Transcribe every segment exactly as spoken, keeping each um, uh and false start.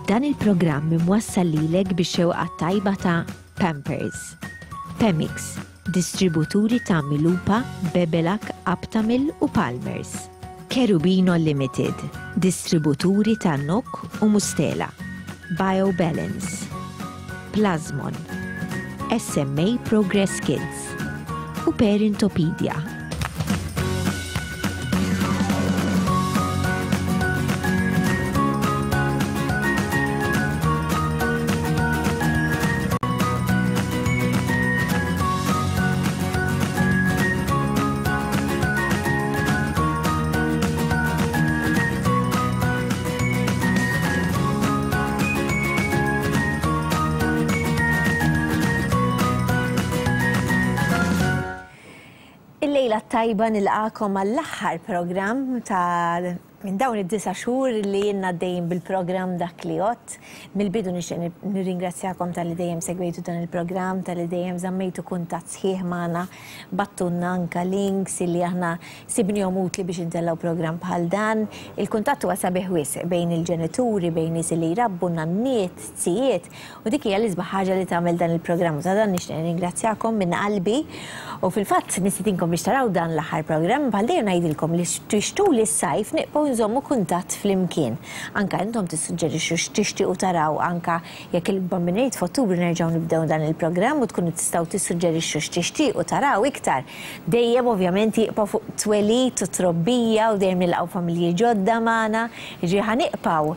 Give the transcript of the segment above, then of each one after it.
Dan il-programm imwassal lilek bix-xewqa tajba ta' Pampers, Pemix, distributuri ta' Milupa, Bebelac, Aptamil u Palmers. Cherubino Limited, distributuri ta' Nok u Mustela. BioBalance, Plasmon, S M A Progress Kids u Parentopedia. Il-lejla tajba, nilqagħkom għall-aħħar programm ta' minn dawn id-disa' xhur li jenna dejjem bil-programm Dak li Jgħodd. Mill-bidu nixtieq nirringrazzjakom talli dejjem segwejtu dan il-programm, talli dejjem żammejtu kuntatt sħiħ magħna, bgħattulna anka links li aħna sibnihom utli biex intellgħu programm bħal dan. Il-kuntatt huwa sabiħ wisq bejn il-ġenituri, bejn nies li jrabbu, nanniet, zijiet, u dik hija l-isbaħ ħaġa li tagħmel dan il-programm. Ta' dan nixtieq nirringrazzjakom minn qalbi. U fil-fatt nistedinkom biex taraw dan l-aħħar programm, bħal dejjem ngħidilkom li tul is-sajf nibqgħu nżommu kuntatt flimkien. Anka intom tissuġġerixxu x'tixtiequ taraw, anka jekk il-Bambin irid f'Ottubru nerġgħu nibdew dan il-programm u tkunu tistgħu tissuġġerixxu x'tixtiequ taraw iktar. Dejjem ovvjament jibqa' fuq twelid u trobbija u dejjem nilqgħu familji ġodda magħna. Jiġifieri ħa nibqgħu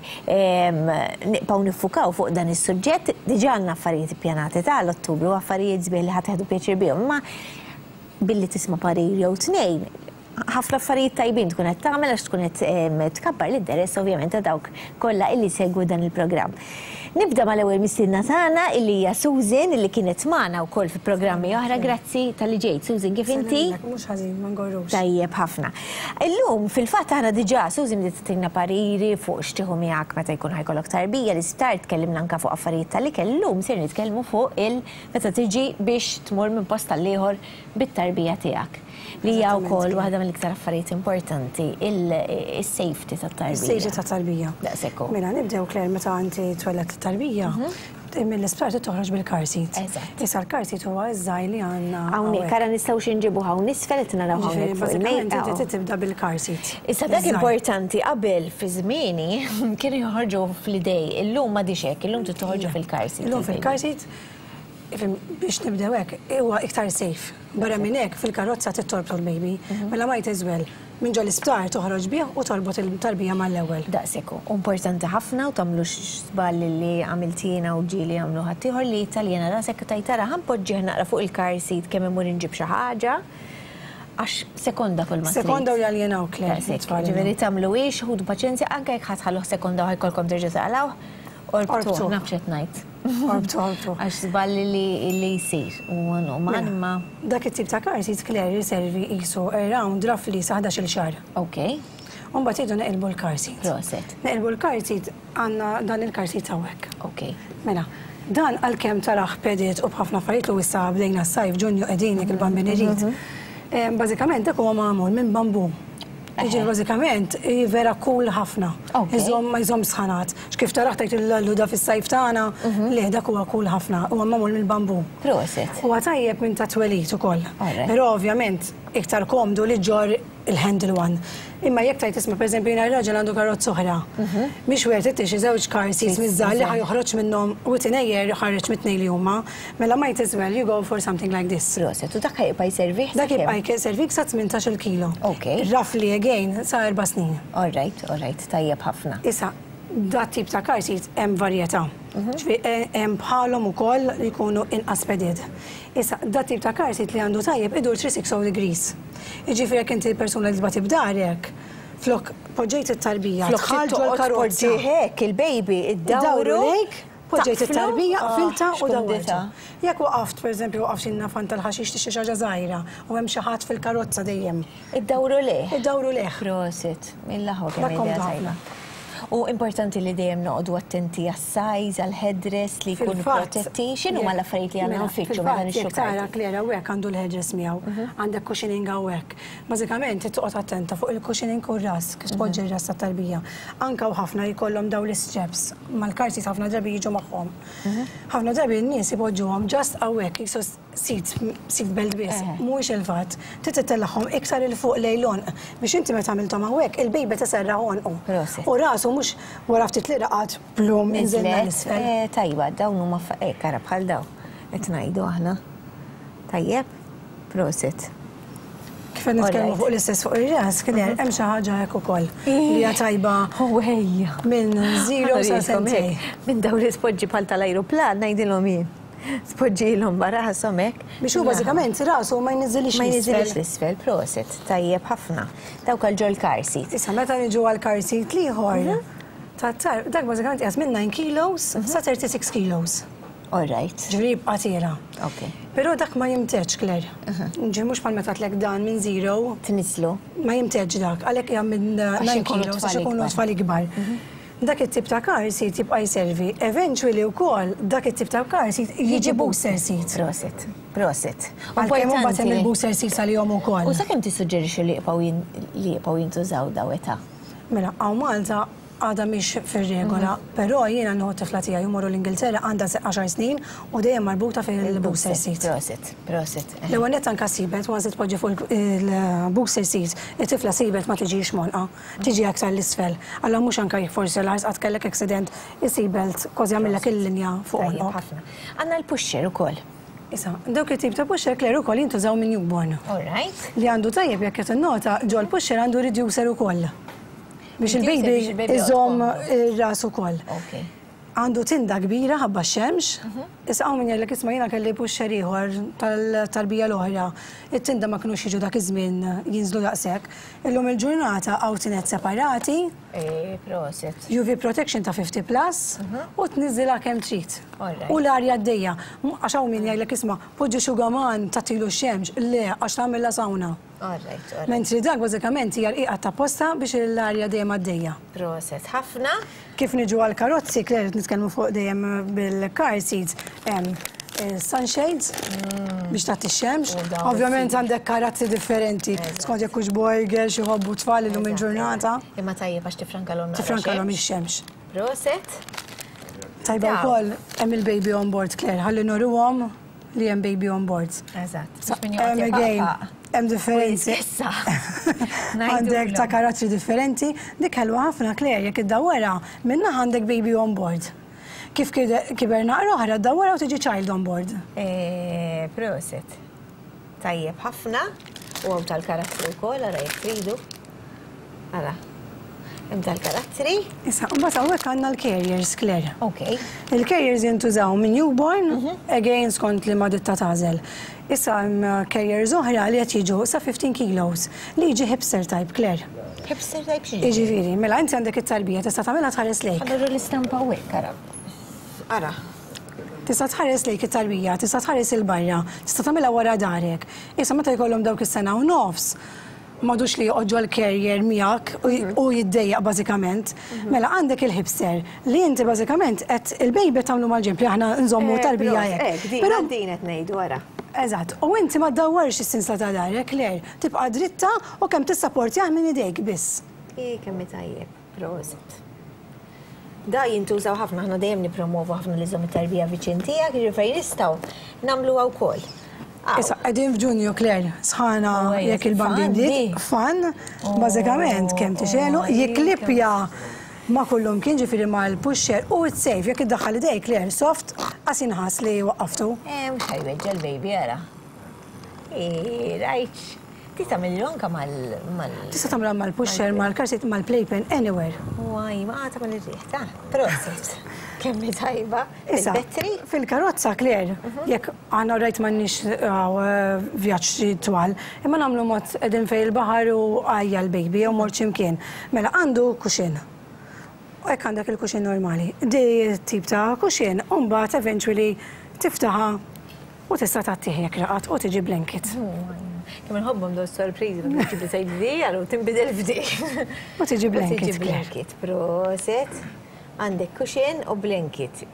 nibqgħu niffukaw fuq dan is-suġġett. Diġà għandna affarijiet ippjanati tal-Ottubru, affarijiet sbieħ li ħa tieħdu pjaċir bihom. Ma billi tisma' parir jew tnejn, ħafna affarijiet tajbin tkun qed tagħmel għax tkun qed tkabbar l-interess ovvjament ta' dawk kollha illi segwu dan il-programm. Nibda mal-ewwel mistiedna tagħna illi hija Susan, illi kienet magħna wkoll fi programmi oħra. Grazzi talli ġejt. Susan, kif inti? Mhux ħażin, ma ngorrux. Tajjeb ħafna. Illum fil-fatt aħna diġà Susan bdiet tagħtina pariri fuq x'tieħu miegħek meta jkun ħa jkollok tarbija l-isptar, tkellimna anke fuq affarijiet tal-ikel. Illum ser nitkellmu fuq il meta tiġi biex tmur minn post għall-ieħor bit-tarbija tiegħek. Li hija wkoll waħda mill-iktar affarijiet importanti, il-safety tat-tarbija. Is-safety tat-tarbija. Daqshekk hu. Mela nibdew, Claire, meta inti twelledt it-tarbija. Mill-isptar toħroġ bil-car seat. Eżatt. Issa l-car seat huwa iż-żgħir li għandna. Hawnhekk ara nistgħu xi nġibu hawn isfel qed naraw hawnhekk fuq Bażikament il-mejda. inti tibda bil-car seat. Issa dak Iż-żgħir. importanti, qabel fi żmieni kienu joħorġu fl-idej, illum m'għadix hekk, illum trid toħorġu fil-car seat. Illum fil-car seat, ifhem, biex nibdew hekk, huwa iktar safe. Barra minn hekk fil-karozza tittorbtu l-baby. Mela might as well minn ġo l-isptar toħroġ bih u torbot il-tarbija mal-ewwel. Daqshekk hu. Importanti ħafna u tagħmlux żball li għamilt jiena u ġieli għamlu ħaddieħor, li taljena rasek u tgħid, "Ħa npoġġih naqra fuq il-car seat kemm imur inġib xi ħaġa," għax sekonda kull ma trid. Sekonda u jaljenaw, Claire. Daqshekk, it-tfal ġifieri tagħmluhiex, ħudu paċenzja anke jekk ħa tħalluh sekonda u ħa jkollkom terġa' taqlgħuh. Orbtu, Orbtu. naf x'qed ngħid. Orbtu, orbtu. Għax żball li li jsir. U man ma. Dak it-tip ta' car seat, Claire, jiservi qisu around roughly sa ħdax-il xahar. Ok, Umbagħad jgħidu neqilbu l-car seat. Proset. Neqilbu l-car seat, għandna dan il-car seat hawnhekk. Ok. Mela, dan għalkemm tarah padded u b'ħafna affarijiet lu issa bdejna s-sajf, Ġunju qegħdin jekk il-Bambin irid. Em, Bażikament dak huwa magħmul minn bambu. Jiġifieri bażikament hi vera cool ħafna. Ok. Iżomm ma jżomm sħanat. X'kif tarah tgħid il-lallu da fis-sajf tagħna, li dak huwa cool ħafna, huwa magħmul mill-bambu. Proset. Huwa tajjeb minn ta' twelid ukoll. Alright. Però ovvjament iktar komdu li ġġorr il-handle one. Imma jekk tgħid isma', pereżempju jiena raġel għandu karozza oħra. Mhix worth it xi żewġ car seats miż-żgħar li ħa joħroġ minnhom within a year ħareġ mit-tnejn li huma. Mela might as well you go for something like this. Proset. U dak jibqa' jservih? Dak jibqa' jservik sa tmintax-il kilo. Ok. Roughly again sa erba' snin. All right, all right, tajjeb ħafna. Issa, dat tip ta' car seat hemm varjetà. Ġifieri, eh, hemm bħalhom ukoll li jkunu inqas padded. Issa, dat tip ta' car seat li għandu tajjeb idur three hundred sixty degrees. Jiġifieri jekk inti persuna li tbati b'darek, flok poġġejt it-tarbija, Flok dħalt ġol karozza. Poġġi hekk il-baby, Iddawru iddawru lejk, poġġejt taqflu. it-tarbija, Ah, qfiltha u x'kumdità. dawwartu. Jekk waqaft, pereżempju, waqaft xi nafan tal-ħaxix xi ħaġa żgħira u hemm xi ħadd fil-karozza dejjem. Iddawru lejh. Iddawru lejh. Proset, mill-aħwa Dak kemm idea komdu tajba. ħafna. U importanti li dejjem noqogħdu attenti għas-size, għal-headrest li jkunu protetti. X'inhu ma l-affarijiet li għandna nfittxu meta nixtru? Tara Claire, hawnhekk għandu l-headrest miegħu, għandek cushioning hawnhekk. Bażikament toqgħod attenta fuq il-cushioning u r-ras, kif tpoġġi r-ras tat-tarbija. Anka u ħafna jkollhom dawn l-straps mal-car seat, ħafna drabi jiġu magħhom. Ħafna drabi n-nies ipoġġuhom just hawnhekk, jisu seat seat belt biss. Mhuwiex il-fatt. Trid titellagħhom iktar 'il fuq lejn l-għonq biex inti meta għamilthom hawnhekk, il-baby tiserraħ għonqu. U rasu mhux wara ftit li raqad, plum, inżilna l-isfel. Eh, tajba, dawn huma hekk, ara bħal daw. Qed ngħidu aħna. Tajjeb, prosit. Kif qed nitkellmu fuq l-istess fuq ir-ras, kien hemm xi ħaġa hekk ukoll li hija tajba minn zero sa sentejn. Minn dawn li tpoġġi bħal tal-ajruplan, ngħidilhom jien. Tpoġġilhom barasom hekk. Biex hu bażikament rasu ma jniżilix. Ma jniżilix l-isfel, prosit, tajjeb ħafna. Dawk għal ġol car seat. Issa meta niġu għal car seat l-ieħor, tat-tar, dak bażikament qiegħed minn nine kilos sa thirty-six kilos. All right. Ġifieri jibqa' tiela'. Ok. Però dak ma jimtedx, Claire. Ġi mhux bħal meta tlek dan minn zero. Tniżlu. Ma jimtedx dak, għalhekk hija minn nine kilos għax ikunu tfal ikbar. Dak it-tip ta' car seat jibqa' jservi. Eventually wkoll dak it-tip ta' car seat jiġi booster seat. Prosit, prosit. Għalkemm imbagħad hemm il-booster seat għalihom ukoll. U sakemm tissuġġerixxi li jibqgħu li jibqgħu jintużaw daw età? Mela, hawn Malta għada mhix fir-regola, però jiena nieħu tifla tiegħi jmorru l-Ingilterra, għandha għaxar snin u dejjem marbuta fil-booster seat. Prosit, prosit. L-ewwel nett anka seatbelt, once tpoġġi fuq il-booster seat, it-tifla seatbelt ma tiġix m'għonqha, tiġi aktar l-isfel. Allora mhux anka jekk forsi l qatt kellek accident, is-seatbelt kważi jagħmillek il-linja fuq Tajjeb għonqok. ħafna. Għandna l-pusher ukoll. Issa, dawk it-tip ta' pusher, Claire, ukoll jintużaw minn newborn. All right. Li għandu tajjeb, jekk qed innota, ġol pusher għandu reducer ukoll. Biex Reducer il-baby biex il-baby iżomm joqgħod ir-ras ukoll. Ok. Għandu tinda kbira ħabba x-xemx. Issa hawn min jgħidlek, "Isma', jiena kelli pusher ieħor tal-tarbija l-oħra. It-tinda ma kinux jiġu dak iż-żmien jinżlu daqshekk." Illum il-ġurnata hawn tined separati, Eh, prosit. U V protection ta' fifty plus u tniżilha kemm trid. Alright. U l-arja għaddejja. Għax hawn min jgħidlek, "Isma', poġġi xugaman tagħtilu x-xemx." Le, għax tagħmilha sawna. All right, all right. Mentri dak bażikament hija rqiqa ta' posta biex l-arja dejjem għaddejja. Prosit ħafna. Kif niġu għal karozzi, Claire, nitkellmu fuq dejjem bil-car seats, hemm eh, sunshades biex tagħti x-xemx. U dawn Ovvjament is- għandek karazzi differenti, skont jekk hux boy, girl, xi jħobbu tfal illum il-ġurnata. Imma tajjeb għax tifrankalhom naqra Tifrankalhom xemx. ix-xemx. Prosit. Tajba Daw. wkoll hemm il-baby on board, Claire, ħalli nuruhom li hemm baby on board. Eżatt. Sa- Biex min Hemm joqgħod again, jepaqpaq. hemm differenzi. Issa. Għandek ta' karattri differenti, dik ħelwa ħafna, Claire, jekk iddawwara, minna għandek baby on board. Kif kide- kiber naqra oħra, ddawwara u tiġi child on board. Eh, Prosit. Tajjeb ħafna. U hawn tal-karattri wkoll, ara jekk tridu. Ara. Hemm tal-karattri. Issa, mbagħad hawnhekk għandna l-carriers, Claire. Ok. Il-carriers jintużaw minn newborn, again skont li ma ditta tagħżel. Issa hemm carriers oħra li qed jiġu sa fifteen kilos li jiġi hipster type, Claire. Hipster type xi? Jiġifieri, mela inti għandek it-tarbija, tista' tagħmilha tħares lejk. Ħa nuru l-istampa hawnhekk, ara. Ara. Tista' tħares lejk it-tarbija, tista' tħares il-barra, tista' tagħmilha wara darek. Issa meta jkollhom dawk is-sena u nofs, m'għadux li joqgħod l-carrier miegħek u- u jiddejjaq bażikament. Mela għandek il-hipster li inti bażikament qed il-baby tagħmlu mal-ġenb li aħna nżommu tarbija hekk. hekk. Din Però din qed ngħidu, ara. Eżatt, u inti ma ddawwarx is-sinsla ta' darek, Claire, tibqa' dritta u kemm tissapportjah minn idejk biss. I kemm tajjeb, prosit. Da jintużaw ħafna, aħna dejjem nipromovu ħafna li żomm it-tarbija viċin tiegħek, jiġifieri nistgħu nagħmluha wkoll. Aw. Issa, qegħdin f'Ġunju, Claire, sħana. Oh, ejja, Jekk il-bambin fan, bdiet, di. Fan, bażikament kemm tixelu, jiklippja ma kullum kien, ġifieri ma l-pusher u it's safe, jekk iddaħħal idejk, Claire, soft, qas inħass li waqqaftu. Eh, mhux ħa jweġġa' l-baby, ara. Eh, rajt. Ti tagħmel anka mal mal Tista' tagħmilha mal-pusher, mal-car seat, mal-playpen, anywhere. Waj, ma tagħmel ir-riħ ta' prosit. Kemm hi tajba. Issa, Il-battery. Fil-karozza, Claire, jekk għana rajt m'għandniex vjaġġ twal, imma nagħmlu mod qegħdin fejn il-baħar u għajja l-baby jew mort x'imkien. Mela għandu cushion. U hekk għandek il-cushion normali. Di tip ta' cushion, u mbagħad eventually tiftaħa u tista' tagħtih jekk raqat u tiġi blanket. Kemm inħobbhom dawn sorpriżi, ma tiġi sejt di, għallu tinbidel f'di. U tiġi blanket. Tiġi blanket, proset. Għandek cushion u blanket.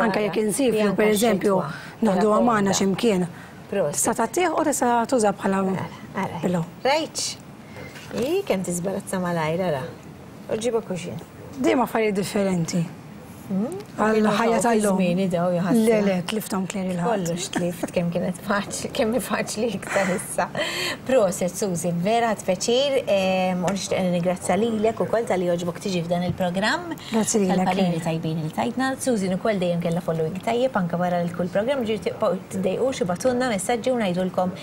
Anka jekk insifru, per eżempju, noħdu għamana x'imkien. Tista' tagħtih u tista' tuża bħala pillow. Rajt. I kemm tiżbarazza malajr, ara. U ġiba cushion. Dejjem affarijiet differenti. Għal-ħajja tal-lum. Le, le, tliftom Claire il-ħadd. Kollox tlift, kemm kienet faċli, kemm faċli iktar issa. Proset, Suzy, vera tfeċir, u nixtieq nirringrazzja lilek ukoll talli jogħġbok tiġi f'dan il-programm. Grazzi lilek. Tal-pariri tajbin li tajtna. Suzy ukoll dejjem kellha following tajjeb anke wara l-kull programm, ġifieri tibqgħu tiddejqux ibatunna messaġġi u ngħidulkom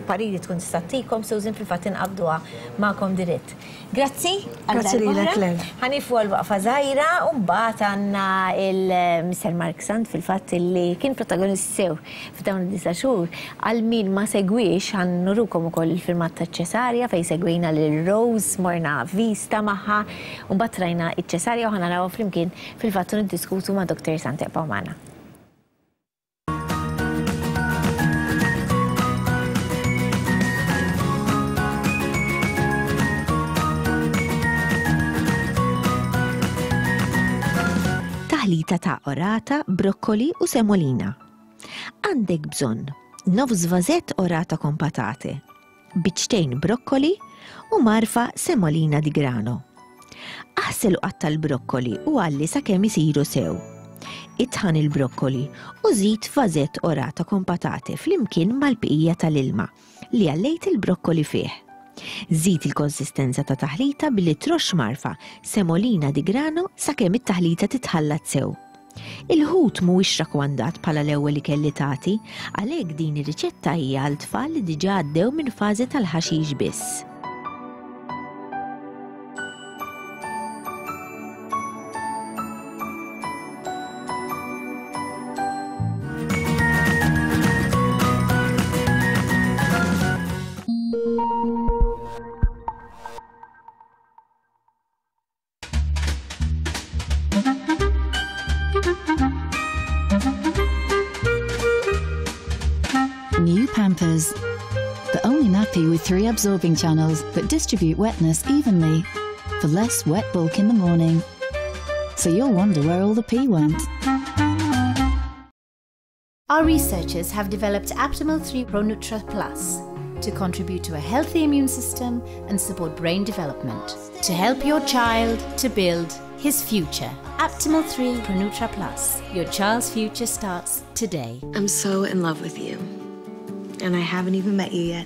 pariri tkun tista' ttikom, Susan fil-fatt inqabduha magħkom dirett. Grazzi. Grazzi lilek, Claire. Ħanifu għal waqfa żgħira u mbagħad għandna il-Mister Mark Sant fil-fatt li kien protagonist sew f'dawn id-disa' xhur. Għal min ma segwix ħan nurukom ukoll il-filmat ta' Ċesarja fejn segwejna lil Rose, morna vista magħha u mbagħad rajna iċ-Ċesarja u ħa naraw flimkien fil-fatt niddiskutu ma' Doctor Sant. Ibqgħu magħna. Taħlita ta' orata, brokkoli u semolina. Għandek bżonn nofs vażett orata con patate, biċċtejn brokkoli u marfa semolina di grano. Aħsel u qatta' l-brokkoli u għalli sakemm isiru sew. Itħan il-brokkoli u żid vażett orata con patate flimkien mal-bqija tal-ilma li għallejt il-brokkoli fih. Żid il-konsistenza ta' taħlita billi troxx marfa semolina di grano sakemm it-taħlita titħallat sew. Il-ħut mhuwiex rakkomandat bħala l-ewwel ikel li tagħti, għalhekk din ir-riċetta hija għal tfal li diġà għaddew minn fażi tal-ħaxix biss. New Pampers, the only nappy with three absorbing channels that distribute wetness evenly for less wet bulk in the morning. So you'll wonder where all the pee went. Our researchers have developed Aptamil three Pronutra Plus to contribute to a healthy immune system and support brain development, to help your child to build his future. Aptamil three Pronutra Plus. Your child's future starts today. I'm so in love with you, and I haven't even met you yet.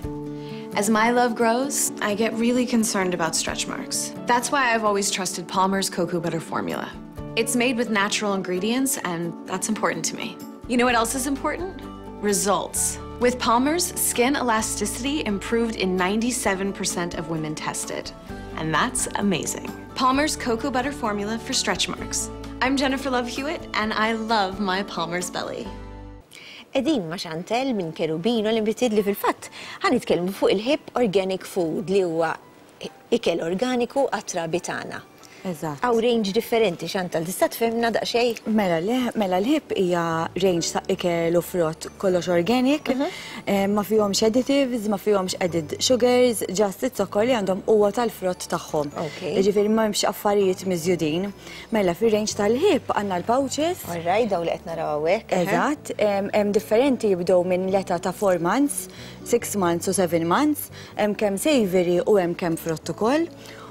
As my love grows, I get really concerned about stretch marks. That's why I've always trusted Palmer's Cocoa Butter Formula. It's made with natural ingredients, and that's important to me. You know what else is important? Results. With Palmer's, skin elasticity improved in ninety-seven percent of women tested. And that's amazing. Palmer's Cocoa Butter Formula for stretch marks. I'm Jennifer Love Hewitt, and I love my Palmer's belly. Edin ma' Chantel minn Cherubino li nbitid li fil-fatt ħa nitkellmu fuq il-Hipp Organic Food li huwa ikel organiku għat-trabi tagħna. Eżatt. Għaw range differenti, Chantal, tista' tfehmna daqsxejn? Mela, mela l-Hipp hija range ta' ikel u frott kollox organic, Mhm. eh, ma fihomx additives, ma fihomx added sugars, just it-zokkor li għandhom huwa tal-frott tagħhom. Ok. Jiġifieri ma hemmx affarijiet miżjudin. Mela fir-range tal-Hipp għandna l-pouches. All right, daw li qed naraw hawnhekk. Eżatt, hemm hemm differenti jibdew minn l-età ta' four months, six months u seven months, hemm kemm savory u hemm kemm frott ukoll.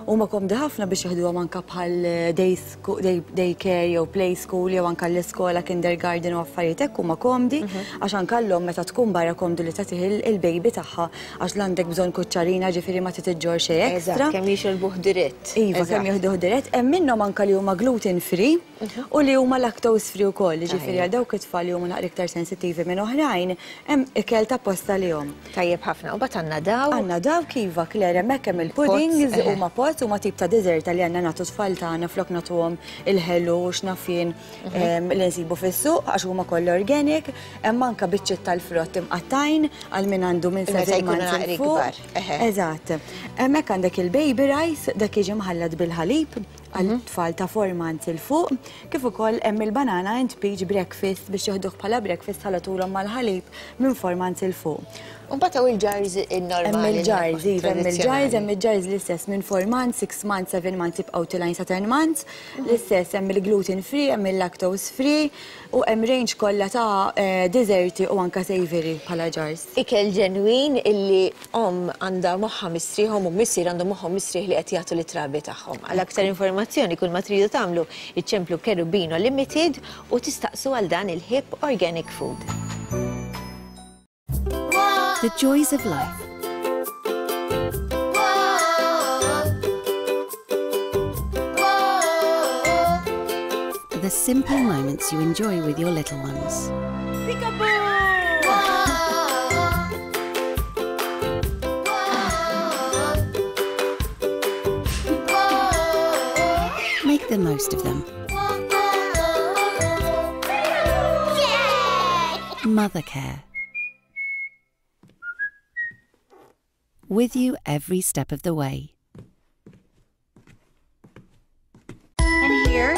U ma komdi ħafna biex jeħduhom anka bħal day scho-, day, day care jew play school jew anka l-iskola, kindergarten u affarijiet hekk huma komdi, Mhm. għax anka llum meta tkun barra komdu li tagħtih il-, il-baby tagħha għax l-għandek bżonn kuċċarina, ġifieri ma titiġġor xejn Eżatt, extra. kemm jixorbuh dirett. Iva, kemm Eżatt. jieħduh dirett. Hemm minnhom anka li huma gluten free Mhm. u li huma lactose free wkoll, ġifieri Tajjeb. għal dawk it-tfal li huma naqra iktar sensittivi minn oħrajn, hemm ikel ta' posta lihom. Tajjeb ħafna. U bat għandna daw. Għandna daw kiva, Claire, hemmhekk hemm il-puddings Pots, eħe. huma pots huma tip ta' dessert li għandna nagħtu tfal tagħna flok nagħtuhom il-ħelu u x'nafjen, Mhm. em, li nsibu fis-suq għax huma kollha organic, hemm anke biċċiet tal-frott imqattajn għal min għandu minn Meta seven jkunu months 'il naqri fuq. kbar, eħe. Eżatt. Hemmhekk għandek il-baby rice, dak jiġi mħallat bil-ħalib għal tfal ta' four months 'il fuq, kif ukoll hemm il-banana and peach breakfast biex jeħduh bħala breakfast ħallatulhom mal-ħalib minn four months 'il fuq. Mbagħad hawn il-jars in-normali. Hemm il-jars, iva, hemm il-jars, hemm il-jars l-istess minn four months, six months, seven months jibqgħu tilgħin sa ten months, l-istess hemm il-gluten free, hemm il-lactose free u hemm range kollha ta' deserti u anka savory bħala jars. Ikel ġenwin illi om għandha moħħha mistrieħhom u missier għandhom moħħhom mistrieħ li qed jagħtu lit-trabi tagħhom. Għal aktar informazzjoni kull ma tridu tagħmlu iċċemplu Cherubino Limited u tistaqsu għal dan il-Hip Organic Food. The joys of life. The simple moments you enjoy with your little ones. Peekaboo! Make the most of them. Mothercare. With you every step of the way. And here?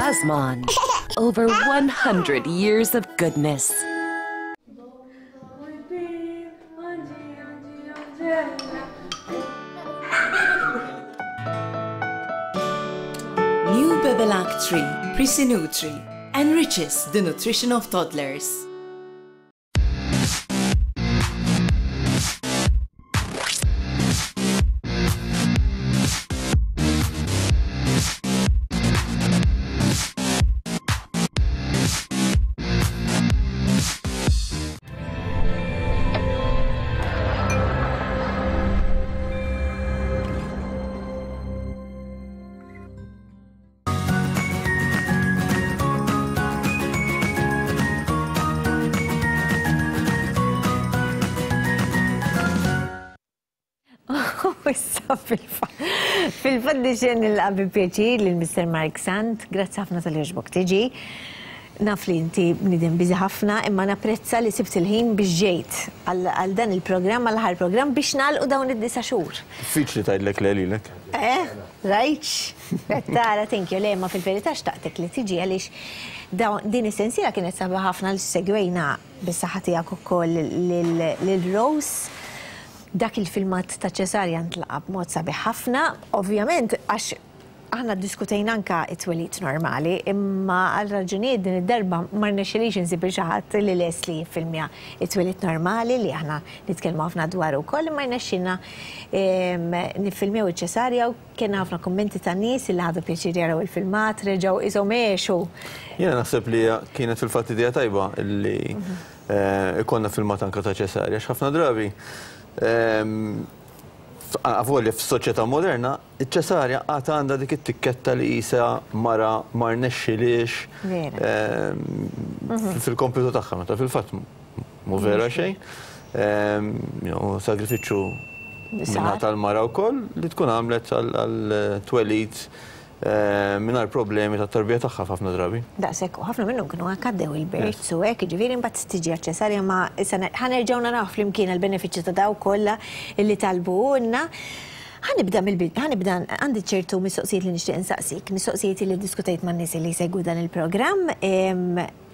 Plasmon. Over one hundred years of goodness. New Bebelac three Prisi-Nutri enriches the nutrition of toddlers. Fil-fatt nixtieq nilqa' bi pjaċir lil Mister Mark Sant, grazzi ħafna tal-li għoġbok tiġi. Naf li inti bniedem biżi ħafna, imma napprezza li sibt il-ħin biex ġejt għal dan il-programm, għal aħħar programm biex nagħlqu dawn id-disa' xhur. Diffiċli tgħidlek le lilek. Eh, rajtx? Tara, thank you, le, ma fil-verità xtaqtek li tiġi għaliex din is-sensiela kienet sabiħa ħafna li segwejna bis-saħħa tiegħek ukoll lil Rose. Dak il-filmat ta' ċesarja ntlaqa b'mod sabiħ ħafna, ovvjament għax aħna ddiskutejna anka it-twelid normali, imma għal raġunijiet din id-darba ma rnexxilix insib xi ħadd li les li jiffilmja it-twelid normali li aħna nitkellmu ħafna dwar ukoll, imma rnexxilna niffilmjaw iċ-ċesarja u kien ħafna kummenti ta' nies li ħadu pjaċir jaraw il-filmat, reġgħu ishom għexu. Jiena naħseb li kienet fil-fatt idea tajba li ikollna filmat anka ta' ċesarja, għax ħafna drabi avolja f'soċjetà moderna, iċ-ċesarja għad għandha dik it-tikketta li qisha mara ma rnexxilix fil-kompitu tagħha, meta fil-fatt mhu vera xejn. Sagrifiċċju minnaħa tal-mara wkoll li tkun għamlet għal twelid mingħajr problemi tat-tarbija tagħha f'ħafna drabi. Daqshekk, u ħafna minnhom kienu anke għaddew il-births u hekk, jiġifieri mbagħad tiġi għaċ-ċesarja, ma issa ħanerġgħu naraw flimkien għall-benefiċċju ta' daw kollha illi talbuhulna. Ħanibda mill-bidu, ħanibda għandi ċertu mistoqsijiet li nixtieq insaqsik, mistoqsijiet li ddiskutejt man-nies li jsegwu dan il-programm,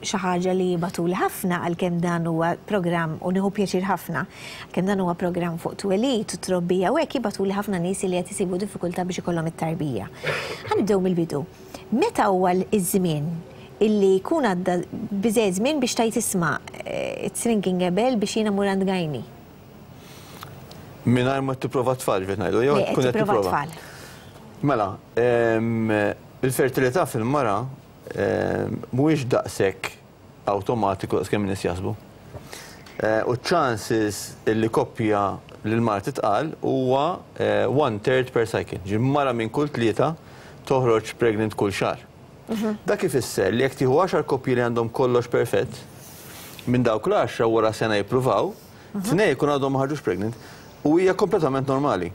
xi ħaġa li jibgħatuli ħafna għalkemm dan huwa programm u nieħu pjaċir ħafna, għalkemm dan huwa programm fuq twelid u trobbija u hekk jibgħatuli ħafna nies li qed isibu diffikultà biex ikollhom it-tarbija. Ħanibdew mill-bidu. Meta huwa iż-żmien illi jkun għadda biżejjed żmien biex tgħid isma' it's ringing a bell biex jiena mmur għand gajni? Mingħajr ma tipprova tfal, ġifieri ngħidu, jew tkun qed tipprova tfal. Mela, il-fertilità fil-mara mhuwiex daqshekk awtomatiku daqskemm in-nies jaħsbu. U chances li koppja lil mara titqal huwa one third per cycle. Ġi mara minn kull tlieta toħroġ pregnant kull xahar. Dak ifisser li jekk tieħu għaxar koppji li għandhom kollox perfett, Minn dawk l-għaxra wara sena jippruvaw, tnejn jkun għadhom ma ħarġux pregnant u hija kompletament normali.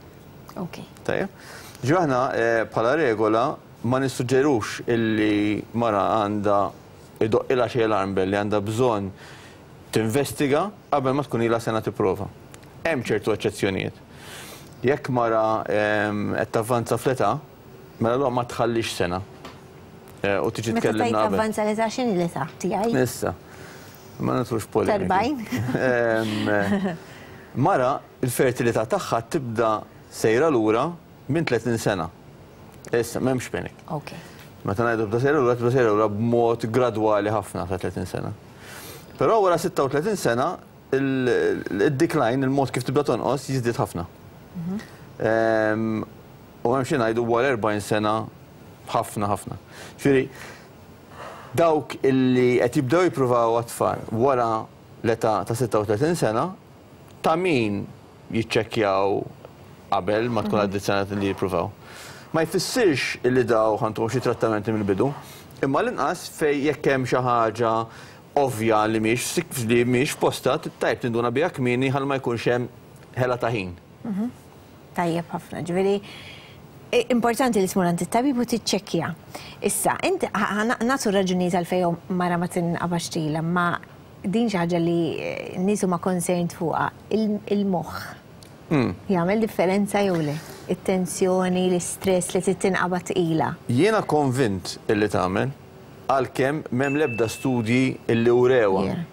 Ok. Tajjeb. Ġifieri aħna eh, bħala regola ma nissuġġerux illi mara għandha idoqqilha xi alarm bell li għandha bżonn tinvestiga qabel ma tkun ilha sena tipprova. Hemm ċertu eċċezzjonijiet. Jekk mara ehm, qed tavvanza fl-età, mela allura ma tħallix sena. Eh, U tiġi Meta tkellimna tajt qabel. avvanza l-età, x'inhi l-età tiegħi? Issa, ma nidħlux polemiki. T'erbgħin? Ehm, Mara, il-fertilità tagħha tibda sejra lura minn tletin sena. Issa, m'hemmx panic. Ok. Meta ngħidu tibda sejra lura, tibda sejra lura b'mod gradwali ħafna ta' tletin sena. Però wara sitta u tletin sena, il-decline, il-mod kif tibda tonqos, jiżdied ħafna. Ehm, U hemm xi ngħidu wara erbgħin sena ħafna ħafna. Ġifieri, dawk illi qed jibdew jippruvaw għat-tfal wara l-età ta' sitta u tletin sena, ta' min jiċċekkjaw qabel ma tkun għaddit sena li jippruvaw. Ma jfissirx illi daw ħa ntuhom xi trattamenti mill-bidu, imma l-inqas fej jekk hemm xi ħaġa ovvja li mhix li mhix posta, tajb tinduna biha kmieni ħalli ma jkunx hemm ħela ta' ħin. Tajjeb ħafna, ġifieri, i- importanti li tmur għand it-tabib u tiċċekkja. Issa, inti nagħtu raġunijiet għalfejn mara ma tinqabax tqila, ma din xi ħaġa li eh, nies huma concerned fuqha, il- il-moħħ. Mm. Jagħmel differenza jew le? It-tensjoni, l-istress li tinqabad tqila. Jiena konvint illi tagħmel, għalkemm m'hemm l-ebda studji illi urewa. Yeah.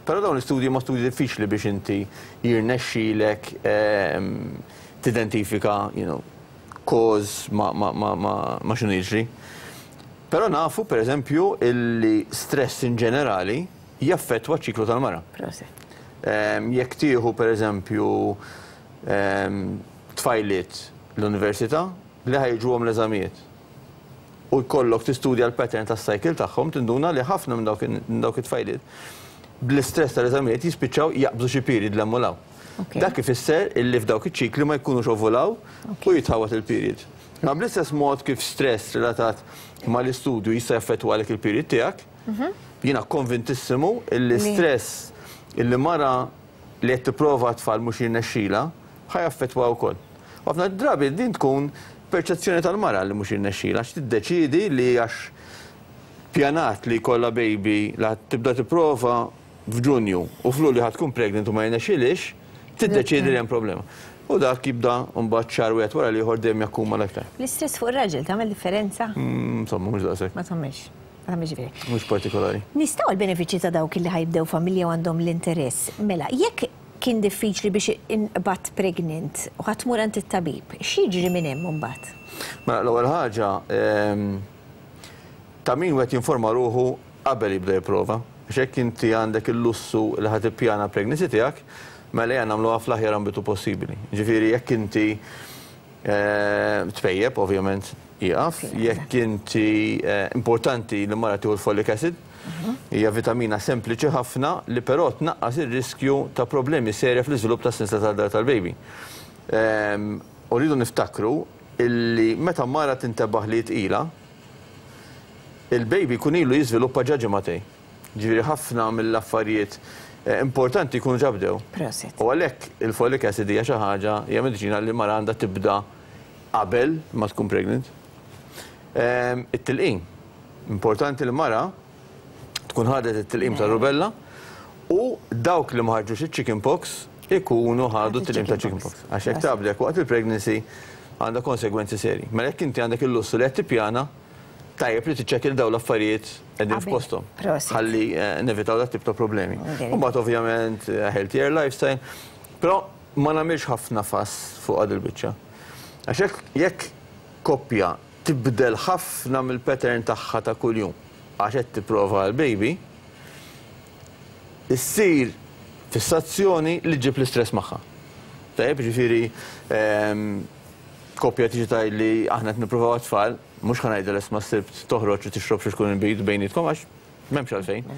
Però dawn l-istudji ma studji diffiċli biex inti jirnexxilek ehm, tidentifika, you know, cause ma, ma, ma, ma, ma x'inhu jiġri. Però nafu, per eżempju, illi stress in ġenerali jaffettwa ċ-ċiklu tal-mara. Proset. Ehm, Jekk tieħu, per eżempju, ehm, tfajliet l-università li ħa jiġuhom l-eżamijiet u jkollok tistudja l-pattern tas-cycle tagħhom, tinduna li ħafna minn dawk minn dawk it-tfajliet bl-istress tal-eżamijiet jispiċċaw jaqbżu xi period 'l hemm u 'l hawn. Ok. Dak ifisser illi f'dawk iċ-ċikli ma jkunux ovulaw u jitħawat il-period. Ma bl-istess mod kif stress relatat mal-istudju jista' jaffettwa għalek il-period tiegħek, jiena konvintissimu illi Li- stress illi mara li qed tipprova tfal mhux jirnexxila ħa jaffettwa wkoll. U ħafna drabi din tkun perċezzjoni tal-mara li mhux jirnexxila, għax tiddeċidi li għax pjanat li jkollha baby la tibda tipprova f'Ġunju u f'Lulju ħa tkun pregnant u ma jirnexxilix, tiddeċidi li hemm problema. U dak jibda mbagħad xahar wieħed wara l-ieħor dejjem jakkumula aktar. L-istress fuq ir-raġel tagħmel differenza? Mm, Insomma, mhux daqshekk, Ma tagħmilx. Ma tagħmilx ġifieri. Mhux partikolari. Nistgħu l-benefiċċji ta' dawk li ħa jibdew familja u għandhom l-interess. Mela, jekk kien diffiċli biex inqbadt pregnant u ħa tmur għand it-tabib, x'jiġri minn hemm imbagħad? Mela, l-ewwel ħaġa, ehm, ta' min wieħed jinforma ruħu qabel jibda jipprova. Għax jekk inti għandek il-lussu li ħa tippjana pregnancy tiegħek, mela ejja nagħmluha fl-aħjar ambitu possibbli. Ġifieri jekk inti eh, tpejjep, ovvjament jaqaf, jekk inti eh, importanti li mara tieħu l-folic acid, hija vitamina sempliċi ħafna li però tnaqqas ir-riskju ta' problemi serja fl-iżvilupp tas-sinsla tad-dahar tal-baby. Ehm, U rridu niftakru illi meta mara tintebaħ li tqila, il-baby jkun ilu jiżviluppa ġa ġimagħtejn. Ġifieri ħafna mill-affarijiet eh, importanti jkunu ġa bdew. Proset. U għalhekk il-folic acid hija xi ħaġa, hija mediċina li mara għandha tibda qabel ma tkun pregnant. Ehm, It-tilqim. Importanti li mara tkun ħadet it-tilqim ta' rubella u dawk li ma ħarġux iċ-chicken pox ikunu ħadu t-tilqim ta' chicken pox. Għax jekk tgħablek waqt il-pregnancy għandha konsegwenzi seri. Mela jekk inti għandek il-lussu li qed tippjana, tajjeb li tiċċekkja dawn l-affarijiet qegħdin Qabel. f'posthom. Proset. Ħalli eh, nevitaw dat tip ta' problemi. Very U mbagħad ovvjament eh, healthier lifestyle, però ma nagħmilx ħafna fuss fuq għad il-biċċa. Għax jekk- jekk koppja tibdel ħafna mill-pattern tagħha ta' kuljum għax qed tipprova l-baby, issir fissazzjoni li ġib l-istress magħha. Tajjeb, ġifieri ehm, koppja tiġi tgħid li aħna qed nippruvaw tfal, mhux ħa ngħidha isma' sibt toħroġ u tixrob xi tkun inbid bejnietkom għax m'hemmx għalfejn.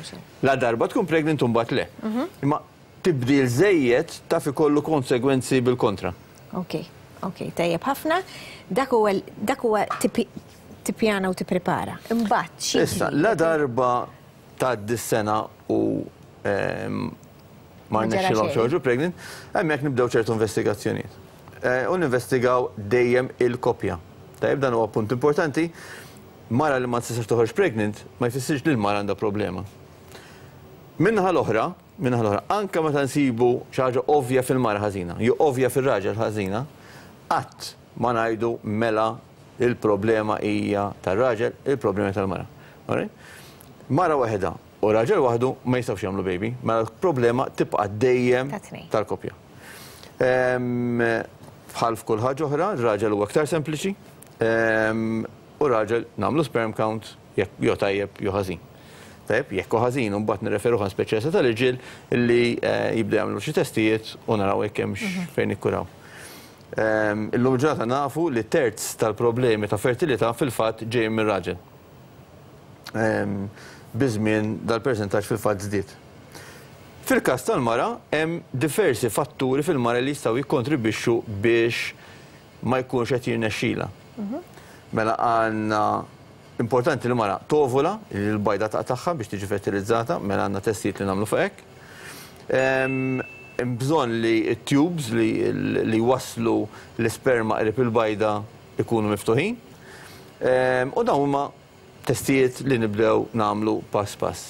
La darba tkun pregnant u mbagħad le. Imma tibdil żejjed taf ikollu konsegwenzi bil-kontra. Ok, ok, tajjeb ħafna. Dak huwa dak huwa tipi- tippjana u tipprepara. Imbagħad xi Issa, la darba tgħaddi s-sena u ma rnexxilhomx joħorġu pregnant, hemmhekk nibdew ċertu investigazzjonijiet. U ninvestigaw dejjem il-koppja. Tajjeb, dan huwa punt importanti. Mara li ma tistax toħroġ pregnant ma jfissirx li l-mara għandha problema. Minnaħa l-oħra, minnaħa l-oħra, anke meta nsibu xi ħaġa ovvja fil-mara ħażina, jew ovvja fir-raġel ħażina, qatt ma ngħidu mela il-problema hija tar-raġel, il-problema tal-mara. Mara waħedha u raġel waħdu ma jistgħux jagħmlu baby, mela l-problema tibqa' dejjem tal-koppja. Bħal f'kull ħaġa oħra, ir-raġel huwa aktar sempliċi, u raġel nagħmlu sperm count jekk jew tajjeb jew ħażin. Tajjeb, jekk hu ħażin u mbagħad nirreferuh għand speċjalista tal-irġiel li jibdew jagħmlu xi testijiet u naraw jekk hemmx fejn nikkuraw. Illum ġurnata nafu li terz tal-problemi ta' fertilità fil-fatt ġejjin mir-raġel. Biż-żmien dal-persentaġġ fil-fatt żdied. Fil-każ tal-mara hemm diversi fatturi fil-mara li jistgħu jikkontribwixxu biex ma jkunx qed jirnexxilha. Mela għandna importanti li mara tovula, li l-bajda taqtagħha biex tiġi fertilizzata, mela għandna testijiet li nagħmlu fuq hekk. Hemm bżonn li t-tubes li waslu l-isperma qrib il-bajda ikunu miftuħin. U dawn huma testijiet li nibdew nagħmlu pass pass.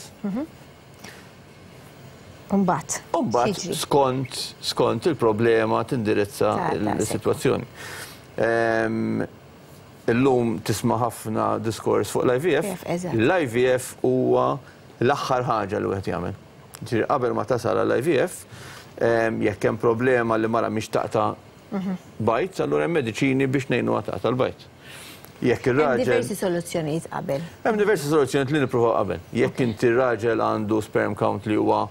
Umbagħad. Umbagħad skont skont il-problema tindirizza l-sitwazzjoni. Illum tisma' ħafna diskors fuq l I V F. L I V F huwa l-aħħar ħaġa li wieħed jagħmel. Ġifieri qabel ma tasal għall I V F, jekk hemm problema li mara mhix taqta' bajt, allura hemm mediċini biex ngħinuha taqta' l-bajt. Jekk ir-raġel. Hemm diversi soluzzjonijiet qabel. Hemm diversi soluzzjonijiet li nippruvaw qabel. Jekk inti r-raġel għandu sperm count li huwa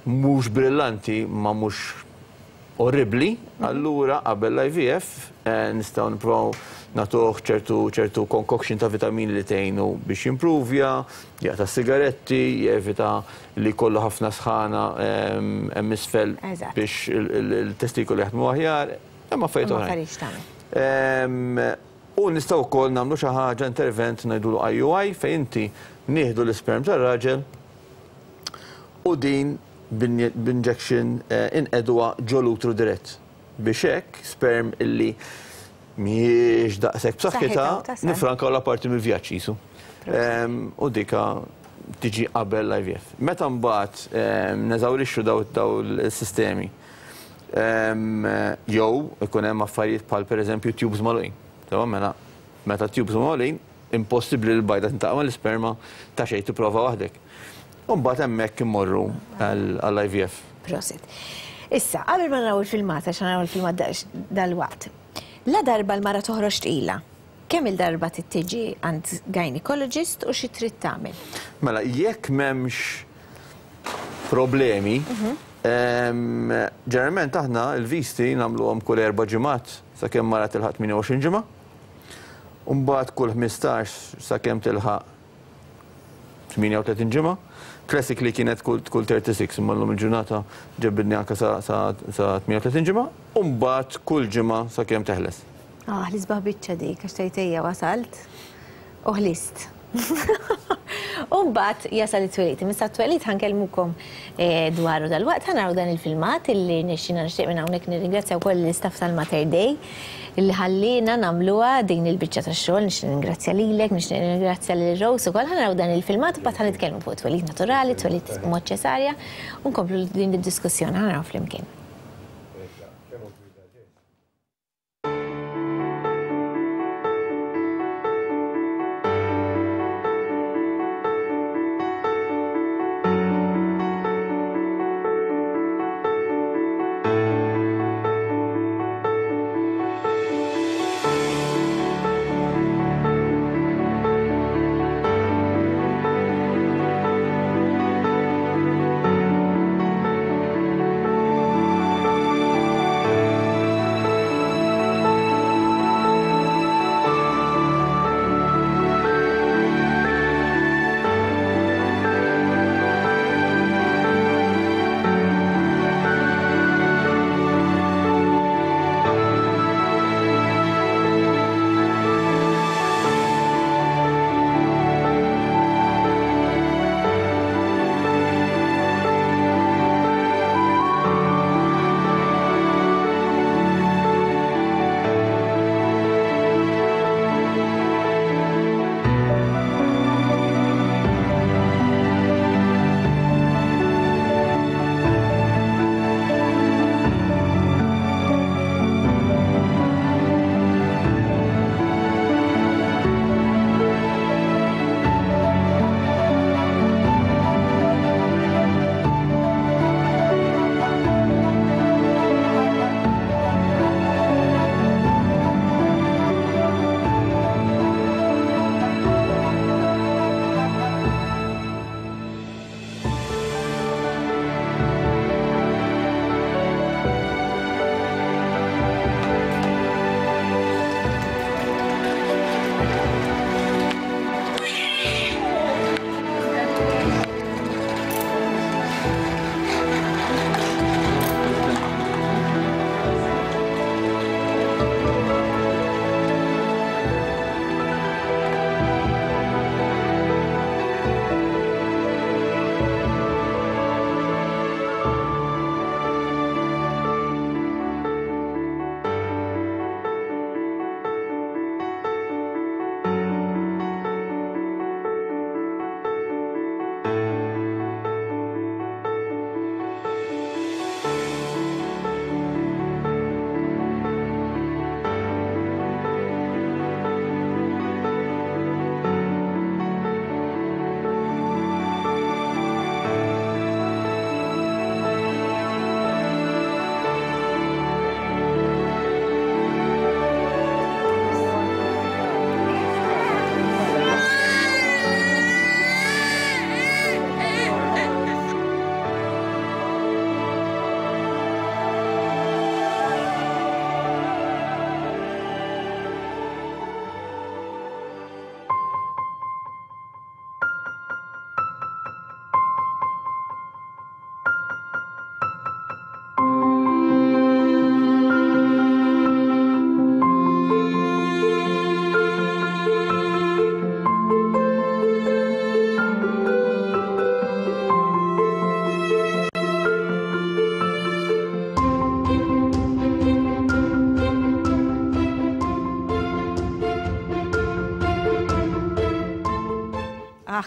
mhux brillanti ma mhux orribli, allura qabel l I V F nistgħu nippruvaw nagħtuh ċertu ċertu concoction ta' vitamini li tgħinu biex jimpruvja, jaqta' sigaretti, jevita li jkollu ħafna sħana hemm isfel biex il-testikoli jaħdmu aħjar, hemm affarijiet oħrajn. U nistgħu wkoll nagħmlu xi ħaġa intervent ngħidulu I U I fejn inti nieħdu l-isperm tar-raġel u din b'injection inqeduha ġol-utru dirett biex hekk sperm illi mhijiex daqshekk b'saħħitha nifrankaw la parti mill-vjaġġ qisu. U dika tiġi qabel l I V F. Meta mbagħad neżawrixxu daw il-sistemi jew ikun hemm affarijiet bħal pereżempju tubes magħluqin. Tamam, mela meta tubes magħluqin impossibbli li l-bajda tintaqa' mal-isperma ta' xejn tipprova waħdek. U mbagħad hemmhekk immorru għall I V F. Prosit. Issa, qabel ma naraw il-filmat, għax naraw il-filmat dal-waqt. La darba l-mara toħroġ tqila, kemm il-darba tiġi għand gynecologist u xi trid tagħmel? Mela, jekk m'hemmx problemi, ġeneralment aħna l-visti nagħmluhom kull erba' ġimgħat sakemm mara tilħaq tmienja u għoxrin ġimgħa, u mbagħad kull ħmistax sakemm tilħaq tmienja u tletin ġimgħa. Classically kienet kull thirty-six, imma llum il-ġurnata ġebbidni anke sa tmienja u tletin ġimgħa, u mbagħad kull ġimgħa sakemm teħles. Ah, l-isbaħ biċċa dik, għax tgħid wasalt u ħlist. U mbagħad jasal it-twelid. Imma t-twelid ħankellmukom dwaru dal-waqt, ħanaraw dan il-filmat illi nixxina nixtieq minn hawnhekk nirringrazzja wkoll l-istaff tal-Mater Dei illi ħallina nagħmluha din il-biċċa tax-xogħol, nixtieq nirringrazzja lilek, nixtieq nirringrazzja lil Rose ukoll. Ħanaraw dan il-filmat u mbagħad ħanitkellmu fuq twelid naturali, twelid mod ċesarja u nkomplu din id-diskussjoni ħanaraw flimkien.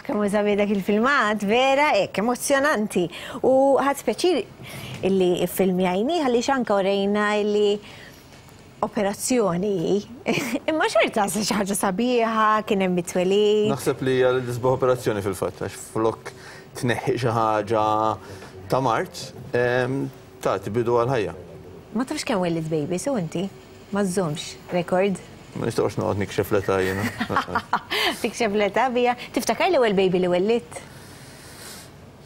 Kemm hu sabiħ dak il-filmat, vera, hekk, emozjonanti. U ħadt pjaċir illi iffilmjajni, għaliex anka urejna illi operazzjoni. Imma xorta xi ħaġa sabiħa, kien hemm it-twelid. Naħseb li hija l-isbaħ operazzjoni fil-fatt, għax flok tneħħi xi ħaġa ta' mard, tagħti bidu għal-ħajja. Ma tafx kemm wellidt baby, so inti? Ma żżommx rekord? Ma nistgħux noqgħod nikxef l-età jiena. Tikxef l-età bija. Tiftakar l-ewwel baby li wellidt?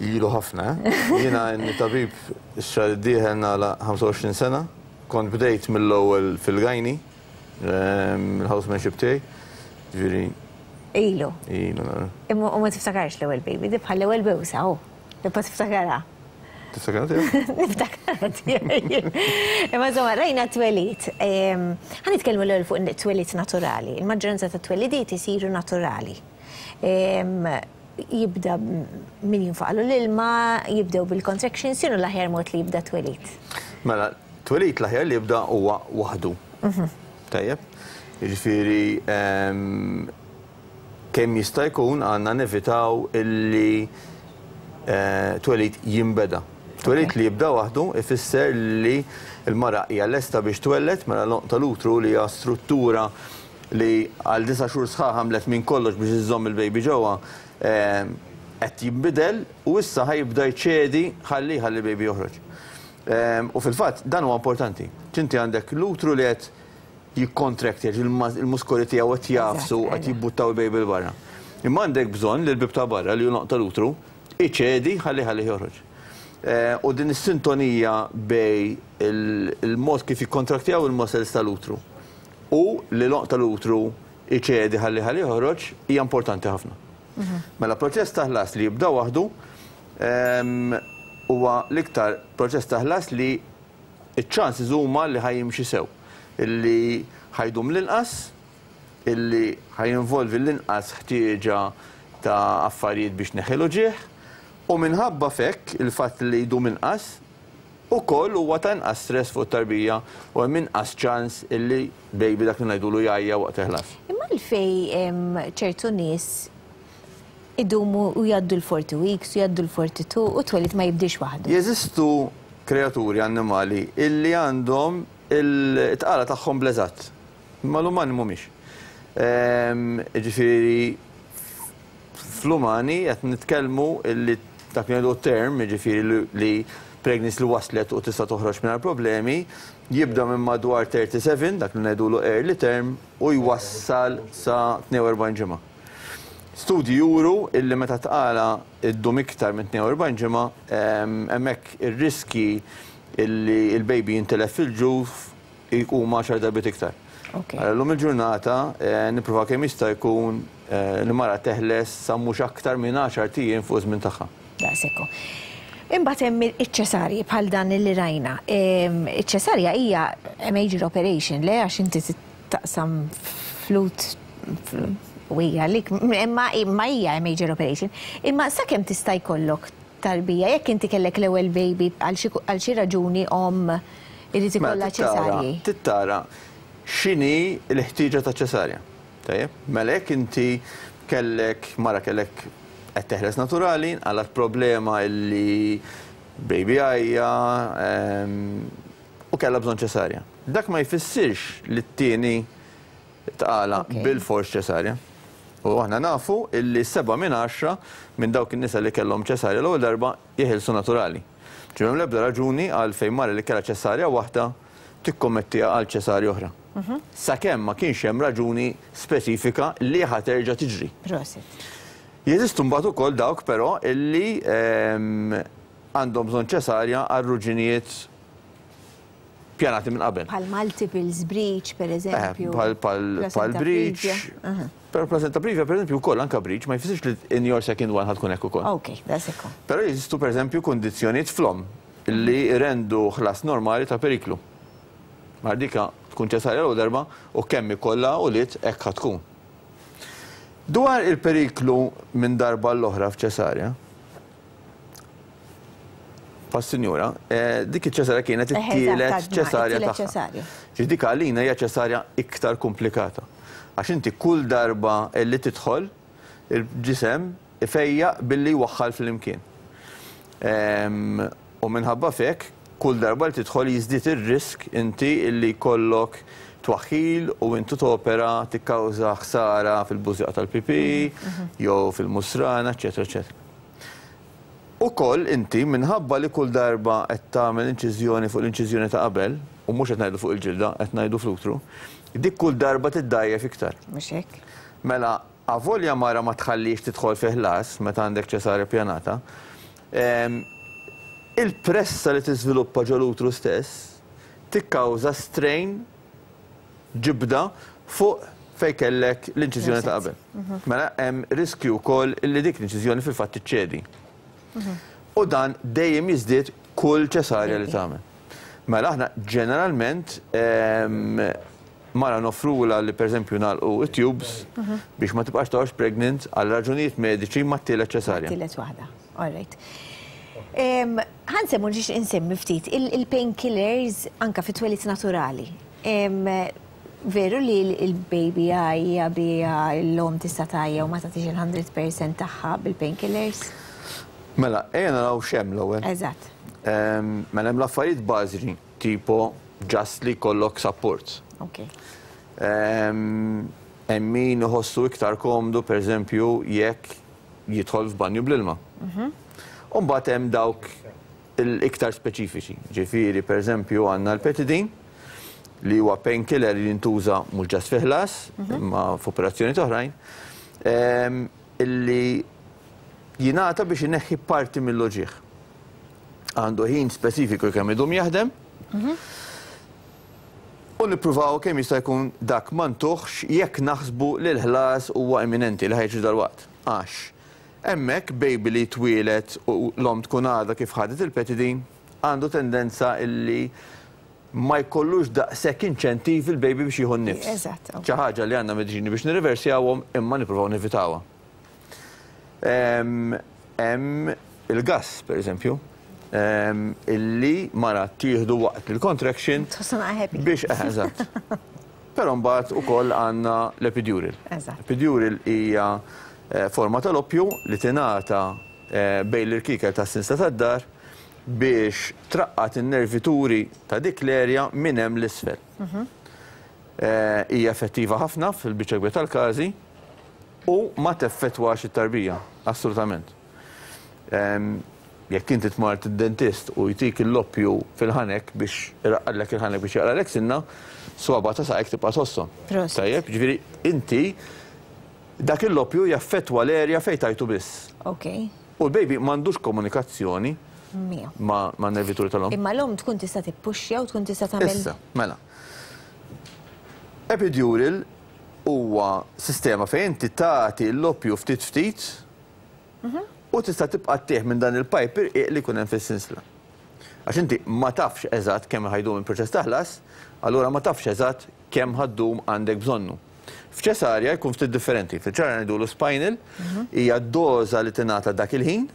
Ilu ħafna, eh? Jiena inni tabib ix-xahar id-dieħel nagħlaq ħamsa u għoxrin sena. Kont bdejt mill-ewwel fil-gynae, il-housemanship tiegħi. Ġifieri. Ilu. Ilu nara. Imma u ma tiftakarx l-ewwel baby, di bħal l-ewwel bewsa, hu. Tibqa' tiftakarha. Tiftakar tiegħek? Niftakar tiegħi. Imma insomma, rajna twelid. Ħa nitkellmu l-ewwel fuq twelid naturali. Il-maġġoranza ta' twelidiet isiru naturali. Jibda min jinfaqlu l-ilma, jibdew bil-contractions, x'inhu l-aħjar mod li jibda twelid? Mela, twelid l-aħjar li jibda huwa waħdu. Tajjeb? Jiġifieri kemm jista' jkun għandna nevitaw illi twelid jinbeda. Twelid li jibda waħdu ifisser li l-mara hija lesta biex twelled, mela l-għonq tal-utru li hija struttura li għal disa' xhur sħaħ għamlet minn kollox biex iżżomm il-baby ġewwa, qed jinbidel u issa ħa jibda jċedi ħalli ħalli baby joħroġ. U fil-fatt dan huwa importanti. Inti għandek l-utru li qed jikkontract, il-muskoli tiegħu qed jagħfsu, qed jibbuttaw il-baby 'l barra. Imma għandek bżonn li l-bib ta' barra li hu l-għonq tal-utru iċedi ħalli ħalli joħroġ. U din is-sintonija bejn il-mod kif jikkontraktjaw il-muscles tal-utru u li l-għonq tal-utru iċedi ħalli ħalli joħroġ hija importanti ħafna. Mela proċess ta' ħlas li jibda waħdu huwa l-iktar proċess ta' ħlas li iċ-chances huma li ħa jimxi sew, illi ħa jdum l-inqas, illi ħa jinvolvi l-inqas ħtieġa ta' affarijiet biex neħilu ġieħ, u minħabba fekk il-fatt li jdum inqas ukoll huwa ta' inqas stress fuq it-tarbija u hemm inqas ċans illi baby dak li ngħidulu jgħajja waqt il-ħlas. Imma għalfejn ċertu nies idumu u jgħaddu l-forty weeks u jgħaddu l-forty-two u twelid ma jibdiex waħdu? Jeżistu kreaturi annimali illi għandhom il-tqala tagħhom bl-eżatt. Imma l-umani mhumiex. Ġifieri fl-umani qed nitkellmu illi dak li ngħidu term, jiġifieri li pregnancy li waslet u tista' toħroġ mingħajr problemi, jibda minn madwar thirty-seven, dak li ngħidulu early term, u jwassal sa tnejn u erbgħin ġimgħa. Studji juru illi meta tqala iddum iktar minn tnejn u erbgħin ġimgħa, hemmhekk ir-riski illi il-baby jintilef fil-ġuf huma għaxar darbiet iktar. Illum il-ġurnata nipprova kemm jista' jkun li mara teħles sa mhux aktar minn għaxart ijiem fuq żmien tagħha. Daqshekk. Imbagħad hemm iċ-ċesarji bħal dan li rajna. Iċ-ċesarja hija a major operation, le, għax inti taqsam flut u hija lik, imma imma hija a major operation. Imma sakemm tista' jkollok tarbija, jekk inti kellek l-ewwel baby, għal xi raġuni om irid ikollha ċesarji. Trid tara x'inhi l-ħtieġa ta' ċesarja. Tajjeb, mela jekk inti kellek mara kellek qed teħles naturali, għalat problema illi baby għajja u kellha bżonn ċesarja. Dak ma jfissirx li t-tieni tqala bil-fors ċesarja. U aħna nafu illi seba' minn għaxra minn dawk in-nisa li kellhom ċesarja l-ewwel darba jeħilsu naturali. Ġimgħa l-ebda raġuni għal fejn mara li kellha ċesarja waħda tikkommettiha għal ċesarja oħra. Sakemm ma kienx hemm raġuni speċifika li ħa terġa' tiġri. Prosit. Jeżistu mbagħad ukoll dawk però illi għandhom bżonn ċesarja għal raġunijiet pjanati minn qabel. Bħal multiples breech, per eżempju. Bħal Placenta breech. previa. Però placenta previa, per eżempju, wkoll anka breech ma jfissirx li in your second one ħa tkun hekk ukoll. Ok, daqshekk. Però jeżistu per eżempju kundizzjonijiet fl-omm li rendu ħlas normali ta' periklu. Ma dika tkun ċesarja l darba u kemm ikollha u lit hekk ħa tkun. Dwar il-periklu minn darba l-oħra f'ċesarja, pas-sinjura, eh, dik iċ-ċesarja kienet Eh, it-tielet eżatt, ċesarja it-tielet tagħha. ċesarja. Ġi dik għalina hija ċesarja iktar komplikata. Għax inti kull darba li tidħol, il-ġisem Ifejjaq billi waħħal fl-imkien. U minħabba fek, kull darba li tidħol jiżdied ir-risk inti illi jkollok twaħħil u intu topera tikkawża ħsara fil-bużieqa tal-pipi, jew fil-musrana, eċetera, eċetera. Ukoll inti minħabba li kull darba qed tagħmel inċiżjoni fuq l-inċiżjoni ta' qabel, u mhux qed ngħidu fuq il-ġilda, qed ngħidu fl-utru, dik kull darba tiddajjef iktar. Mhux hekk? Mela, avolja mara ma tħallix tidħol fi ħlas meta għandek ċesarja pjanata, il-pressa li tiżviluppa ġol-utru stess tikkawża strain, ġibda fuq fej kellek l-inċiżjoni ta' qabel. Mela hemm riskju wkoll li dik l-inċiżjoni fil-fatt tiċċedi. U dan dejjem jiżdied kull ċesarja li tagħmel. Mela aħna ġeneralment mara nofrula li pereżempju nagħlqu it-tubes biex ma tibqax toqgħodx pregnant għal raġunijiet mediċi mat-tielet ċesarja. Tielet waħda. All right. Ħa nsemmu ġiex insemmi ftit il-painkillers anka fit-twelid naturali. Veru li il-baby għajja bija l-om tista' tgħajja u ma tagħtix il-mija fil-mija tagħha bil-painkillers? Mela, ejja naraw x'hemm l-ewwel. Eżatt. Mela hemm l-affarijiet bażiċi, tipo just li jkollok support. Ok. Hemm min iħossu iktar komdu, pereżempju, jekk jidħol f'banju bl-ilma. U mbagħad hemm dawk l-iktar speċifiċi. Ġifieri, pereżempju, għandna l-petidin, li huwa painkiller li jintuża mhux just fi ħlas, imma f'operazzjoni oħrajn, illi jingħata biex ineħħi parti mill-uġigħ. Għandu ħin speċifiku kemm idum jaħdem. U nippruvaw kemm jista' jkun dak ma ntuħx jekk naħsbu li l-ħlas huwa imminenti li ħa jiġri dalwaqt. Għax hemmhekk baby li twieled u l-om tkun għadha kif ħadet il-petidin għandu tendenza illi ma jkollux daqshekk inċentiv il-baby biex jieħu n-nifs. Eżatt. Xi ħaġa li għandna mediċini biex nirriversjawhom imma nippruvaw nevitawha. Hemm il-gas, per eżempju, illi mara tieħdu waqt il-contraction biex eżatt. Però mbagħad ukoll għandna l-epidural. Epidural hija forma tal-oppju li tingħata bejn l-irkikel tas-sinsla tad-dahar biex traqqat in-nervituri ta' dik l-erja minn hemm l-isfel. Hija effettiva ħafna fil-biċċa kbira tal-każi u ma teffettwax it-tarbija, assolutament. Jekk inti tmur id-dentist u jtik l-oppju fil-ħanek biex iraqqadlek il-ħanek biex jaqralek sinna, swaba ta' saqajk tibqa' tħosshom. Tajjeb, ġifieri inti dak l-oppju jaffettwa l-erja fejn tajtu biss. Ok. U l-baby m'għandux komunikazzjoni ma' nervituri tal-om. Imma l-om tkun tista' tippuxxja u tkun tista' tagħmel. Issa, mela. Epidural huwa sistema fejn inti tagħti l-oppju ftit ftit u tista' tibqa' ttih minn dan il-pipe irqiq li jkun hemm fis-sinsla. Għax inti ma tafx eżatt kemm ħa jdum il-proċess ta' ħlas, allura ma tafx eżatt kemm ħa ddum għandek bżonnu. F'ċesarja jkun ftit differenti. F'ċesarja ngħidulu spinal, hija doża li tingħata dak il-ħin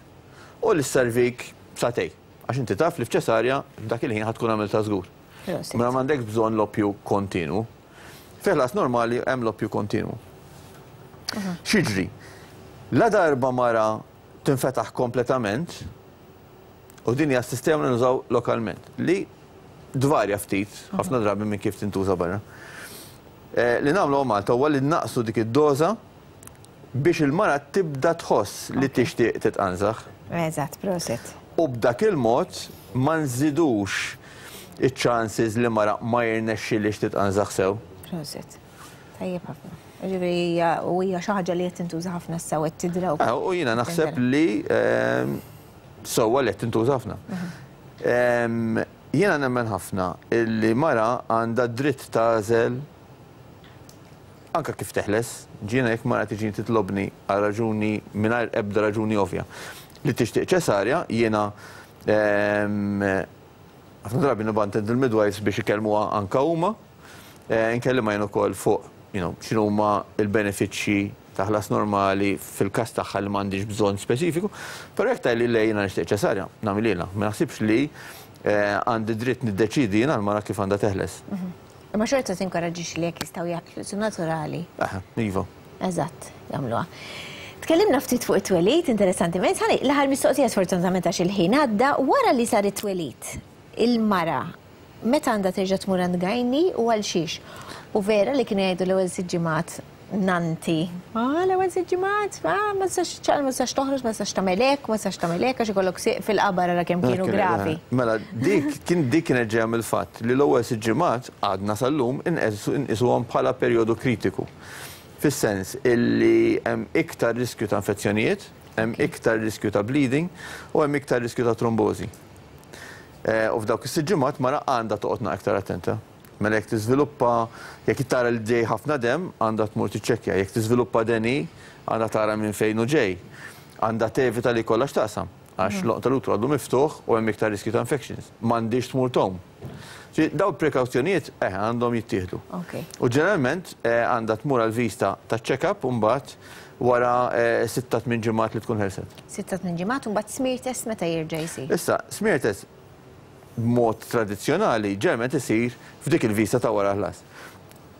u li sservik sagħtejn. Għax inti taf li f'ċesarja dak il-ħin ħa tkun għamilta żgur. Mela m'għandek bżonn l-oppju kontinu. Fi ħlas normali hemm l-oppju kontinu. X'jiġri? La darba mara tinfetaħ kompletament, u din hija s-sistema li nużaw lokalment, li dvarja ftit, ħafna drabi minn kif tintuża barra. Li nagħmlu Malta huwa li naqsu dik id-doża biex il-mara tibda tħoss li tixtieq titqanżaħ. Eżatt, proset. U b'dak il-mod ma nżidux iċ-chances li mara ma jirnexxilix titqanżaħ sew. Proset. Tajjeb ħafna. Ġifieri u hija xi ħaġa li qed tintuża ħafna sew qed tidra. U jiena naħseb li sewwa li qed tintuża ħafna. Jiena nemmen ħafna li mara għandha dritt tagħżel anka kif teħles, ġiena jekk mara tiġi titlobni għal raġuni mingħajr ebda raġuni ovvja li tixtieq ċesarja, jiena ħafna drabi nibgħat il-midwives biex ikellmuha anka huma, nkellimha jien ukoll fuq x'inhuma l-benefiċċji ta' ħlas normali fil-każ tagħha li m'għandix bżonn speċifiku, però jekk tgħidli le jiena nixtieq ċesarja, nagħmilha, ma naħsibx li għandi dritt niddeċidi jiena l-mara kif għandha teħles. Imma xorta tinkoraġġix li jekk jistgħu jaħlusu naturali. Aha, iva. Eżatt, jagħmluha. Tkellimna ftit fuq it-twelid, interessanti. L-aħħar mistoqsija, sfortunatament għax il-ħin għadda, wara li sar it-twelid, il-mara meta għandha terġa' tmur għand gynae u għal xiex? U vera li kienu jgħidu l-ewwel sitt ġimgħat nanti? Ah, l-ewwel sitt ġimgħat, ah, ma tistax ċaqal, ma tistax toħroġ, ma tistax tagħmel hekk, ma tistax tagħmel hekk, għax ikollok sieq fil-qabar, ara kemm kienu gravi. Mela, dik kien dik kienet ġejja mill-fatt li l-ewwel sitt ġimgħat għadna sal-lum inqisuhom bħala perjodu kritiku. Fis-sens illi hemm iktar riskju ta' infezzjonijiet, hemm iktar riskju ta' bleeding u hemm iktar riskju ta' trombożi. U f'dawk is-sitt ġimgħat mara għandha toqgħod aktar attenta. Mela jekk tiżviluppa, jekk tara li ġej ħafna dem, għandha tmur tiċċekkja. Jekk tiżviluppa deni, għandha tara minn fejn hu ġej. Għandha tevita li kollha x'taqsam, għax l-għonq tal-utru għadu miftuħ u hemm iktar riskju ta' infections. M'għandix tmur tgħum. Daw prekawzjonijiet eh, għandhom jittieħdu. U ġeneralment għandha tmur għal vista ta' check-up u mbagħad wara sitta tmien ġimgħat li tkun ħelset. Sitta tmien ġimgħat u mbagħad smear test meta jerġa' jsir? Issa, smear test b'mod tradizzjonali ġeneralment isir f'dik il-vista ta' wara ħlas.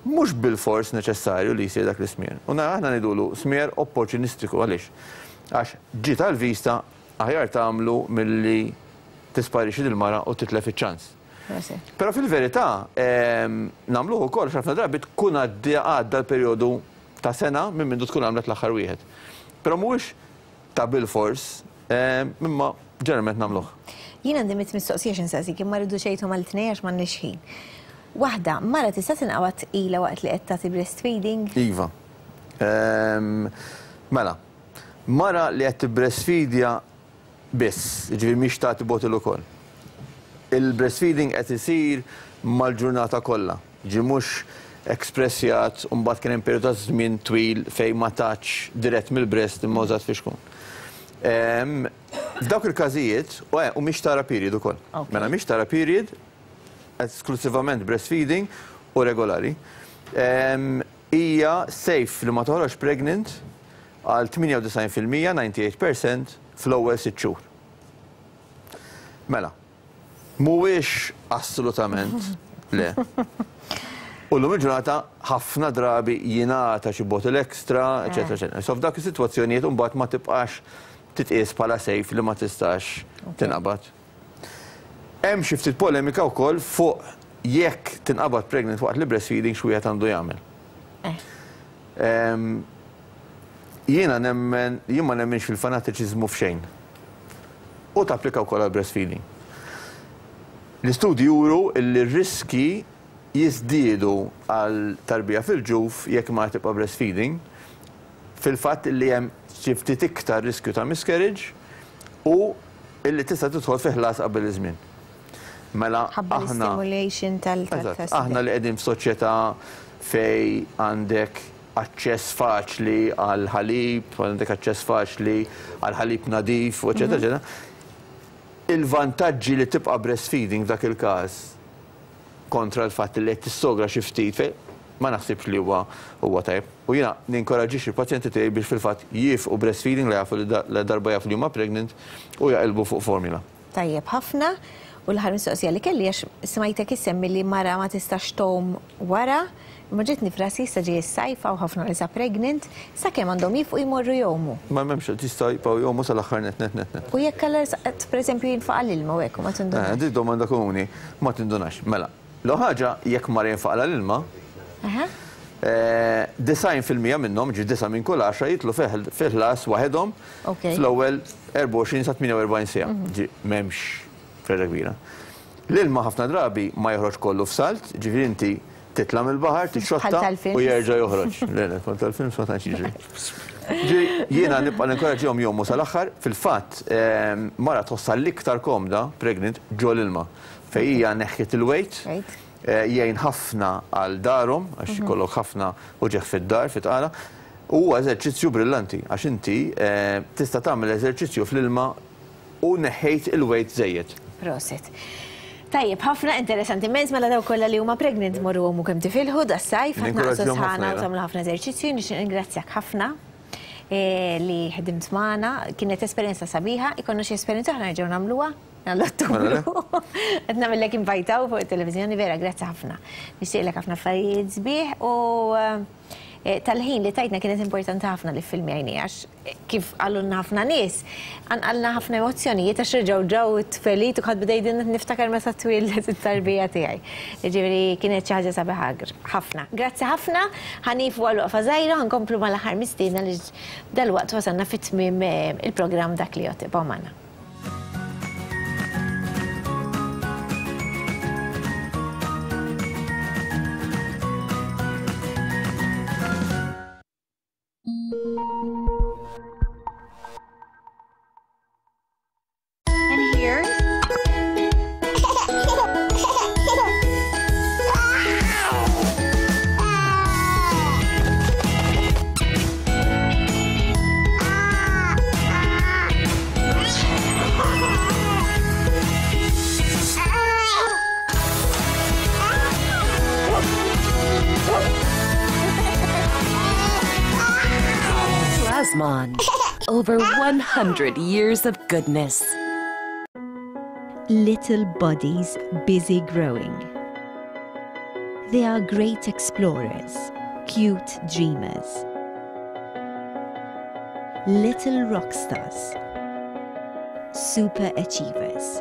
Mhux bil-fors neċessarju li jsir dak l-smear. U nara aħna ngħidulu smear opportunistiku, għaliex? Għax ġiet għal-vista, aħjar tagħmlu milli tisparixxi dil-mara u titlef iċ-ċans. Però fil-verità nagħmluh ukoll ħafna drabi tkun għadda l-perjodu ta' sena minn mindu tkun għamlet l-aħħar wieħed. Però mhuwiex ta' bil-fors, imma ġeneralment nagħmluh. Jien għandi mitt mistoqsija x'insaqsik, imma rridu xejthom għal tnejn għax m'għandniex ħin. Waħda, mara tista' tinqabad tqila waqt li qed tagħti breastfeeding? Iva. Mela, mara li qed tibreastfeedja biss, jiġifieri mhix tagħti bottle ukoll. Il-breastfeeding qed isir mal-ġurnata kollha. Ġi mhux ekspressjat u mbagħad kien hemm perjodu ta' żmien twil fejn ma tatx dirett mill-breast imma użat fixkun. F'dawk il-każijiet, u mhix tara period ukoll. Mela mhix tara period, esklusivament breastfeeding u regolari. Hija safe li ma toħroġ pregnant għal tmienja u disgħin fil-mija, disgħa u disgħin fil-mija fl-ewwel sitt xhur. Mela, mhuwiex assolutament le. U l-lum il-ġurnata ħafna drabi jingħata xi bottle extra, eċetera, eċetera. So f'dak is-sitwazzjonijiet imbagħad ma tibqax titqies bħala safe li ma tistax tinqabad. Hemm xi ftit polemika wkoll fuq jekk tinqabad pregnant waqt li breastfeeding, x'wieħed għandu jagħmel. Jiena nemmen, jien ma nemmenx fil-fanatiċiżmu f'xejn. U tapplika wkoll għal breastfeeding. L-istudji juru li r-riski jiżdiedu għal tarbija fil-ġuf jekk ma tibqa' breastfeeding, fil-fatt li hemm xi ftit iktar riskju ta' miscarriage u illi tista' tidħol fi ħlas qabel iż-żmien. Mela Ħabba aħna l-stimulation tal Eżatt, aħna li qegħdin f'soċjetà fej għandek aċċess faċli għal ħalib, għandek aċċess faċli għal ħalib nadif, eċetera, eċetera. Il-vantaġġi li tibqa' breastfeeding f'dak il-każ kontra l-fatt li qed tissogra xi ftit fej ma naħsibx li huwa huwa tajjeb. U jiena ninkoraġġixxi l-pazjenti tiegħi biex fil-fatt jieqfu breastfeeding li jafu li la darba jafu li huma pregnant u jaqilbu fuq formula. Tajjeb ħafna. U l-aħħar mistoqsija li kelli, għax smajtek issemmi li mara ma tistax tgħum wara, imma ġietni f'rasi, issa ġej is-sajf u ħafna nisa pregnant, sakemm għandhom jieqfu jmorru jgħumu? Ma m'hemmx, tista' jibqgħu jgħumu sal-aħħar net net net net. U jekk allura pereżempju jinfaqa' l-ilma u hekk u ma tindunax? Eh, dik domanda komuni, ma tindunax. Mela, l ħaġa, jekk mara jinfaqa' l-ilma, eh, disgħin fil-mija minnhom, ġi disa' minn kull għaxra, jidħlu fil-ħlas waħedhom fl-ewwel erbgħa u għoxrin sa tmienja u erbgħin siegħa. Mhm. Ġi m'hemmx ferra kbira. L-ilma ħafna drabi ma joħroġ kollu f'salt, ġifieri inti titla' mill-baħar, tixxotta tal-films. U jerġa' joħroġ. Le, le, bħal tal-films ma tantx jiġri. Ġifieri jiena nibqa' ninkoraġġihom jgħumu sal-aħħar, fil-fatt ehm, mara tħossha l-iktar komda pregnant ġol ilma. Fejn hija neħħiet il-weight, eh, jgħin ħafna għal darhom, għax ikollok ħafna uġigħ fid-dar, fit-tqala. Huwa eżerċizzju brillanti, għax inti eh, tista' tagħmel eżerċizzju fl-ilma u neħħejt il-weight żejjed. Prosit. Tajjeb, ħafna, interessanti immens. Mela daw kollha li huma pregnant, morru għumu kemm tifilħu das-sajf, ħa tnaqqsu Ninkoraġġihom ħafna, sħana u jena. tagħmlu ħafna eżerċizzju. Nixtieq ningrazzjak ħafna eh, li ħdimt magħna, kienet esperjenza sabiħa, ikollna xi esperjenza oħra nerġgħu nagħmluha għall-Ottubru. Qed nagħmellek invajtaw fuq it-televiżjoni, vera, grazzi ħafna. Nixtieqlek ħafna affarijiet sbieħ u eh, Tal-ħin li tajtna kienet importanti ħafna li filmjajni għax kif għallunna ħafna nies, għanqalna ħafna emozzjonijiet għax reġgħu ġew it-tfeliet u ħadd bdejt niftakar meta twieldet it-tarbija tiegħi. Jiġifieri kienet xi ħaġa sabiħa ħafna. Grazzi ħafna, ħanifu għal waqfa żgħira, ħankomplu mal-aħħar mistiedna li dalwaqt wasalna fit-tmiem il-programm Dak li Jgħodd. Ibqgħu magħna. And here? Plasmon. Over one hundred years of goodness. Little bodies busy growing. They are great explorers, cute dreamers. Little rock stars, super achievers.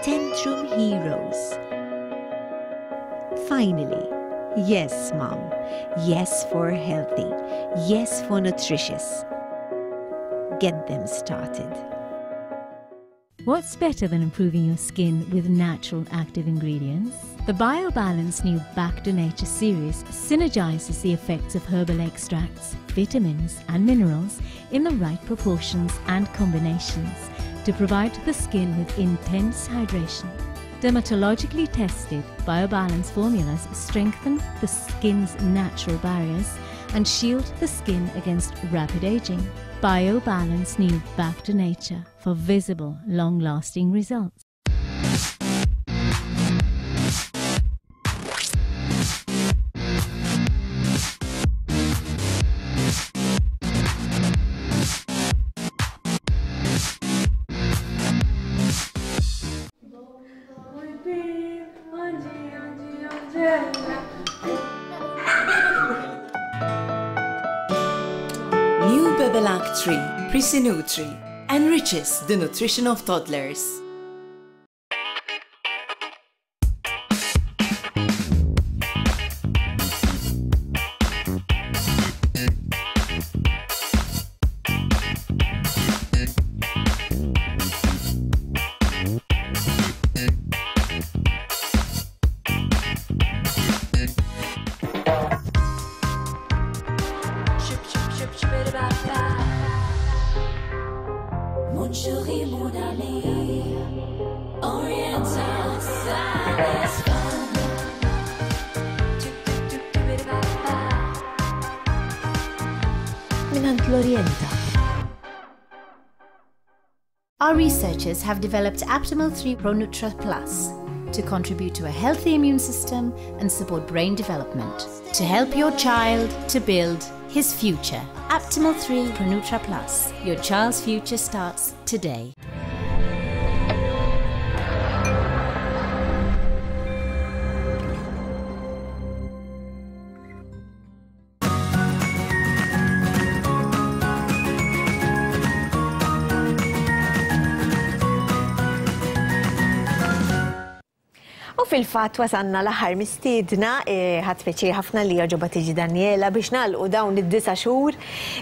Tantrum heroes. Finally, yes, Mom. Yes for healthy. Yes for nutritious. Get them started. What's better than improving your skin with natural active ingredients? The BioBalance new Back to Nature series synergizes the effects of herbal extracts, vitamins and minerals in the right proportions and combinations to provide the skin with intense hydration. Dermatologically tested BioBalance formulas strengthen the skin's natural barriers and shield the skin against rapid aging. BioBalance new Back to Nature for visible, long-lasting results. New Bebelac three Prisi-Nutri enriches the nutrition of toddlers. Our researchers have developed Aptamil three Pronutra Plus to contribute to a healthy immune system and support brain development, to help your child to build his future. Aptamil three Pronutra Plus. Your child's future starts today. Fil-fatt wasanna l-aħħar mistiedna, ħadd pjaċir ħafna li għoġobha tiġi Daniela biex nagħlqu dawn id-disa' xhur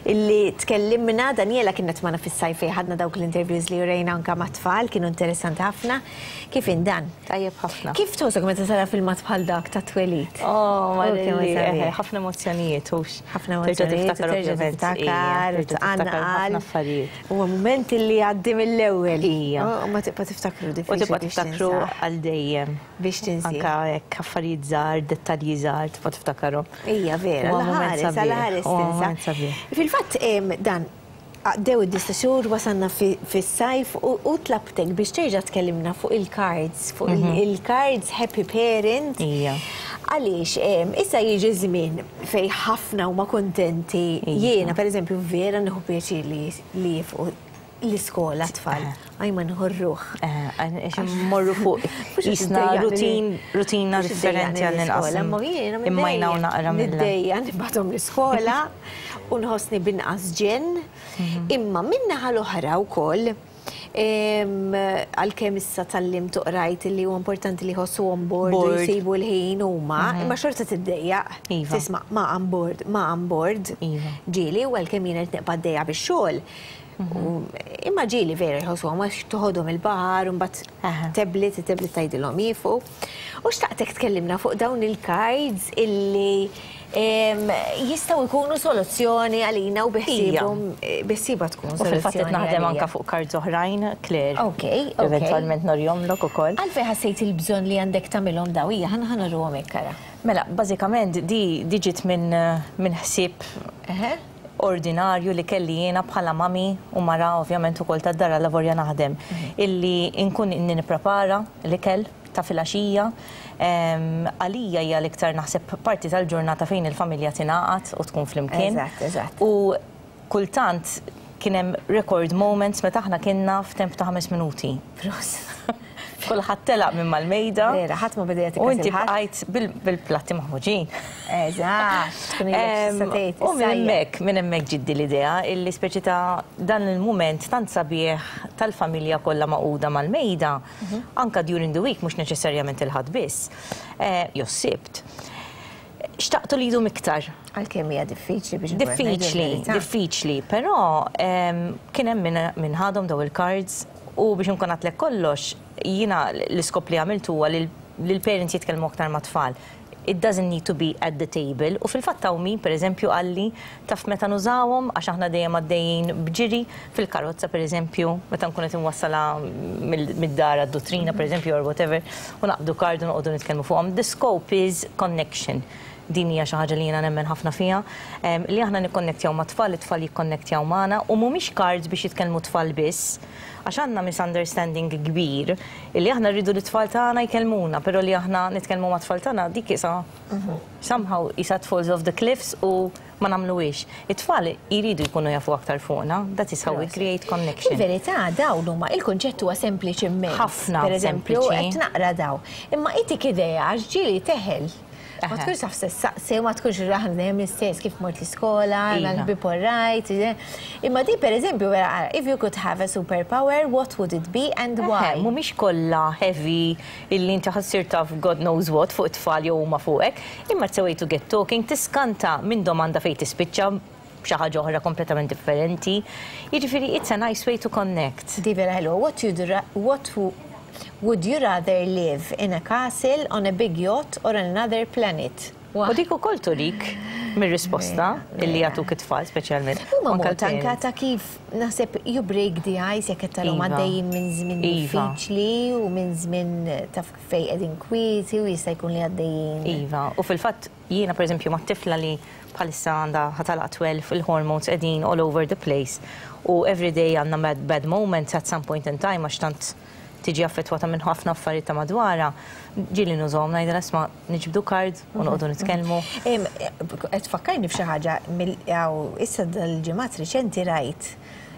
illi tkellimna. Daniela kienet magħna fis-sajf fejn ħadna dawk l-interviews li urejna anke mat-tfal, kienu interessanti ħafna. Kif indan? Tajjeb ħafna. Kif tħossok meta tara filmat bħal dak ta' twelid? Oh, Marilli, ħafna emozzjonijiet hux. Ħafna emozzjonijiet, terġa' tiftakar, tqanqal. Huwa mument li għaddi mill-ewwel. U ma tibqa' tiftakru diffiċli. U tibqa' tiftakru għal dejjem. Biex tinsi. Anka hekk affarijiet żgħar, dettalji żgħar tibqa' tiftakarhom. Ija vera, l-ħares, l-ħares tinsa. Fil-fatt dan għaddew id-disa' xhur wasalna fis-sajf u tlabtek biex terġa' tkellimna fuq il-cards, fuq il-cards Happy Parent. Għaliex issa jiġi żmien fejn ħafna huma kuntenti. Jiena pereżempju vera nieħu pjaċir li jifqu L-iskola tfal, għaj ma nħorruħ. Morru fuq jisna rutin, rutina differenti għall-inqas. Immajna u naqra mill Niddejja nibgħathom l-iskola u nħossni binqas ġen. Imma min-naħa l-oħra wkoll, għalkemm issa tgħallimt u qrajt li huwa importanti li jħossuhom bored u Bored. jsibu l-ħin huma, imma xorta tiddejjaq. Iva. Tisma' ma I'm bored, ma I'm bored. Iva. Ġieli u għalkemm jiena qed nibqa' għaddejja bix-xogħol. U- Imma ġieli vera jħossuhom għax toħodhom il-baħar u mbagħad tablet, tablet tgħidilhom jieqfu. U xtaqtek tkellimna fuq dawn il-cards illi em, jistgħu jkunu soluzzjoni għalina u biħsibhom biħsiba tkun U fil-fatt qed soluzzjoni naħdem għalija. anka fuq cards oħrajn, Claire. Ok, ok. Eventualment nurihomlok ukoll. Għalfejn ħassejt il-bżonn li għandek tagħmilhom daw hija ħa ħa nuruhom hekk ara. Mela, bażikament di di ġiet minn minn ħsieb ordinarju li kelli jiena bħala mami u mara ovvjament ukoll tad-dar lavorja naħdem, illi nkun inni nipprepara l-ikel ta' filgħaxija. Għalija hija l-iktar naħseb parti tal-ġurnata fejn il-familja tingħaqad u tkun flimkien. Eżatt, eżatt. U kultant kien hemm record moments meta aħna kienna f'temp ta' ħames minuti. Kulħadd telaq minn mal-mejda. Vera, ħadd ma beda U inti bqajt bil-platti maħmuġin. Eżatt, tkun ilek tgħid, U minn hemmhekk, minn hemmhekk ġiddi l-idea illi speċi ta' dan il-mument tant sabiħ tal-familja kollha magħquda mal-mejda, anka during the week, mhux neċessarjament il-Ħadd biss, eh, jew Sibt. Xtaqtu li jdum iktar. Għalkemm hija diffiċli biex nkun qed ngħidu Diffiċli, l-verità. Diffiċli, però em, kien hemm min- min ħadhom daw il-cards u biex nkun għedtlek kollox, jiena l-iskop li għamiltu huwa li l-parents jitkellmu aktar ma' tfal. It doesn't need to be at the table. U fil-fatt hawn min, per eżempju, qalli taf meta nużawhom, għax aħna dejjem għaddejjin b'ġiri fil-karozza, per eżempju, meta nkun qed inwassala mid-dar għad-duttrina, per eżempju, or whatever, u naqbdu card u noqogħdu nitkellmu fuqhom. The scope is connection. Din hija xi ħaġa li jiena nemmen ħafna fiha, em, li aħna nikkonnettjaw ma' tfal, it-tfal jikkonnettjaw magħna u mhumiex cards biex jitkellmu tfal biss, għax għandna misunderstanding kbir illi aħna rridu li tfal tagħna jkellmuna, però li aħna nitkellmu ma' tfal tagħna dik isa somehow isa falls off the cliffs u ma nagħmluhiex. It-tfal jridu jkunu jafu aktar fuqna, that is how we create connection. Il-verità dawn huma il-kunċett huwa sempliċi immens. Ħafna Per eżempju, sempliċi. qed naqra daw. Imma itik idea għax ġieli teħel. Ma tkunx taf saqsi, ma tkunx raħan dejjem l-istess kif mort l-iskola, Iva. l-ħbieb all right. Imma di per eżempju, vera, if you could have a superpower, what would it be and why? Eħe, mhumiex kollha heavy illi inti ħa ssir taf God knows what fuq it-tfal jew huma fuqek, imma it's a way to get talking, tiskanta minn domanda fejn tispiċċa xi ħaġa oħra kompletament differenti. Jiġifieri it's a nice way to connect. Di vera ħelwa, what you'd ra- what would you rather live in a castle, on a big yacht or on another planet? U dik ukoll turik mir-risposta illi jagħtuk it-tfal speċjalment. Huma Anka mod anka l-parents. ta' kif naħseb you break the ice jekk qed tarahom Iva. għaddejjin minn żmien Iva. diffiċli u minn żmien ta' fejn qegħdin kwieti u jista' jkun li għaddejjin. Iva, u fil-fatt jiena per eżempju ma' tifla li bħalissa għandha ħa tagħlaq tnax, il-hormones qegħdin all over the place u every day għandna bad, bad moments at some point in time għax tant tiġi affettwata minn ħafna affarijiet ta' madwara. Ġieli nużahom, ngħidilha, "Isma', niġbdu card u noqogħdu nitkellmu." Em, Qed tfakkarni f'xi ħaġa mill- jew issa dal-ġimgħat riċenti rajt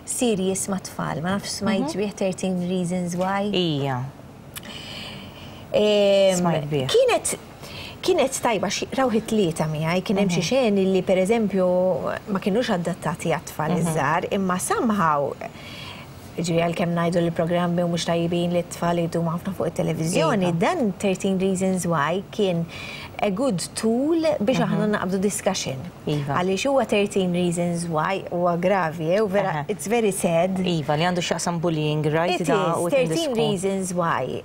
series ma' tfal, ma nafx smajt bih thirteen Reasons Why. Ija. Em, Smajt bih. Kienet kienet tajba xi rawh it-tlieta miegħi, kien hemm xi xeni li pereżempju ma kinux adattati għat-tfal iż-żgħar, imma somehow, ġifieri għalkemm ngħidu li programmi u mhux tajbin li t-tfal jdumu ħafna fuq it-televiżjoni, Iva. dan thirteen Reasons Why kien a good tool biex aħna naqbdu discussion. Iva. Għaliex huwa thirteen Reasons Why huwa gravi, eh, u vera Aha. it's very sad. Iva, li għandu x'jaqsam bullying, right? It Da, is, u in the thirteen school. Reasons Why.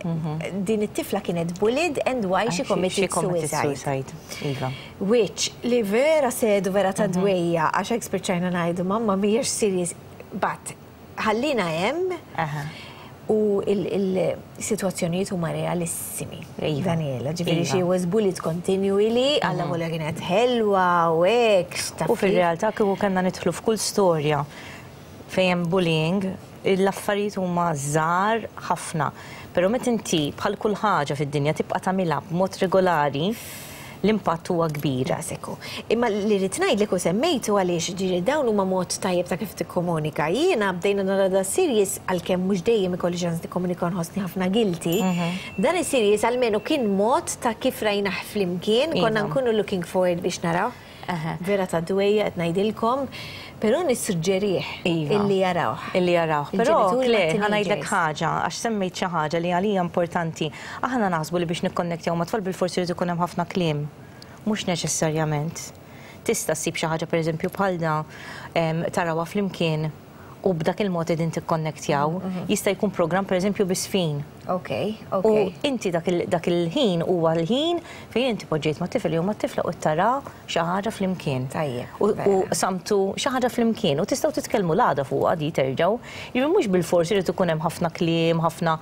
Din it-tifla kienet bullied and why she committed She committed suicide. suicide. Iva. Which li vera sad u vera ta' dwejja, għax hekk spiċċajna ngħidu mamma mhijiex serious, but ħallina hemm Aha. u il-situazzjonijiet huma realissimi. Iva. Daniela, ġifieri Iva. she was bullied continually, alla volja kienet ħelwa u hekk. Taf U kif? fil-realtà kieku kellna nidħlu f'kull storja fejn hemm bullying, l-affarijiet huma żgħar ħafna. Però meta inti bħal kull ħaġa fid-dinja tibqa' tagħmilha b'mod regolari, L-impatt huwa kbir. Daqshekk hu. Imma li rrid ngħidlek u semmejtu għaliex ġieli dawn huma mod tajjeb ta' kif tikkomunika. Jiena bdejna nara da series, għalkemm mhux dejjem ikolli ċans nikkomunika, nħossni ħafna guilty. Dan is-series almenu kien mod ta' kif rajna flimkien, konna Iva. nkunu looking forward biex naraw. Vera ta' dwejja qed ngħidilkom, però nissuġġerih Iva. illi jarawh. Illi jarawh. Però, Il-ġenituri Claire, mat-teenagers. ħa ngħidlek ħaġa, għax semmejt xi ħaġa li għalija importanti. Aħna naħsbu li biex nikkonnektjaw ma' tfal bil-forsi jrid ikun hemm ħafna kliem. Mhux neċessarjament. Tista' ssib xi ħaġa, pereżempju, bħal da em, tarawha flimkien u b'dak il-mod qegħdin tikkonnektjaw. Jista' jkun programm, pereżempju, biż-żfin. Ok, U ok. inti dak il- dak il-ħin huwa l-ħin fejn inti poġġejt ma' tifel jew ma' tifla u tara xi ħaġa flimkien. Tajjeb, U vera. u samtu xi ħaġa flimkien u tistgħu titkellmu l-għada fuqha di terġgħu. Jiġifieri mhux bil-forsi irid ikun hemm ħafna kliem, ħafna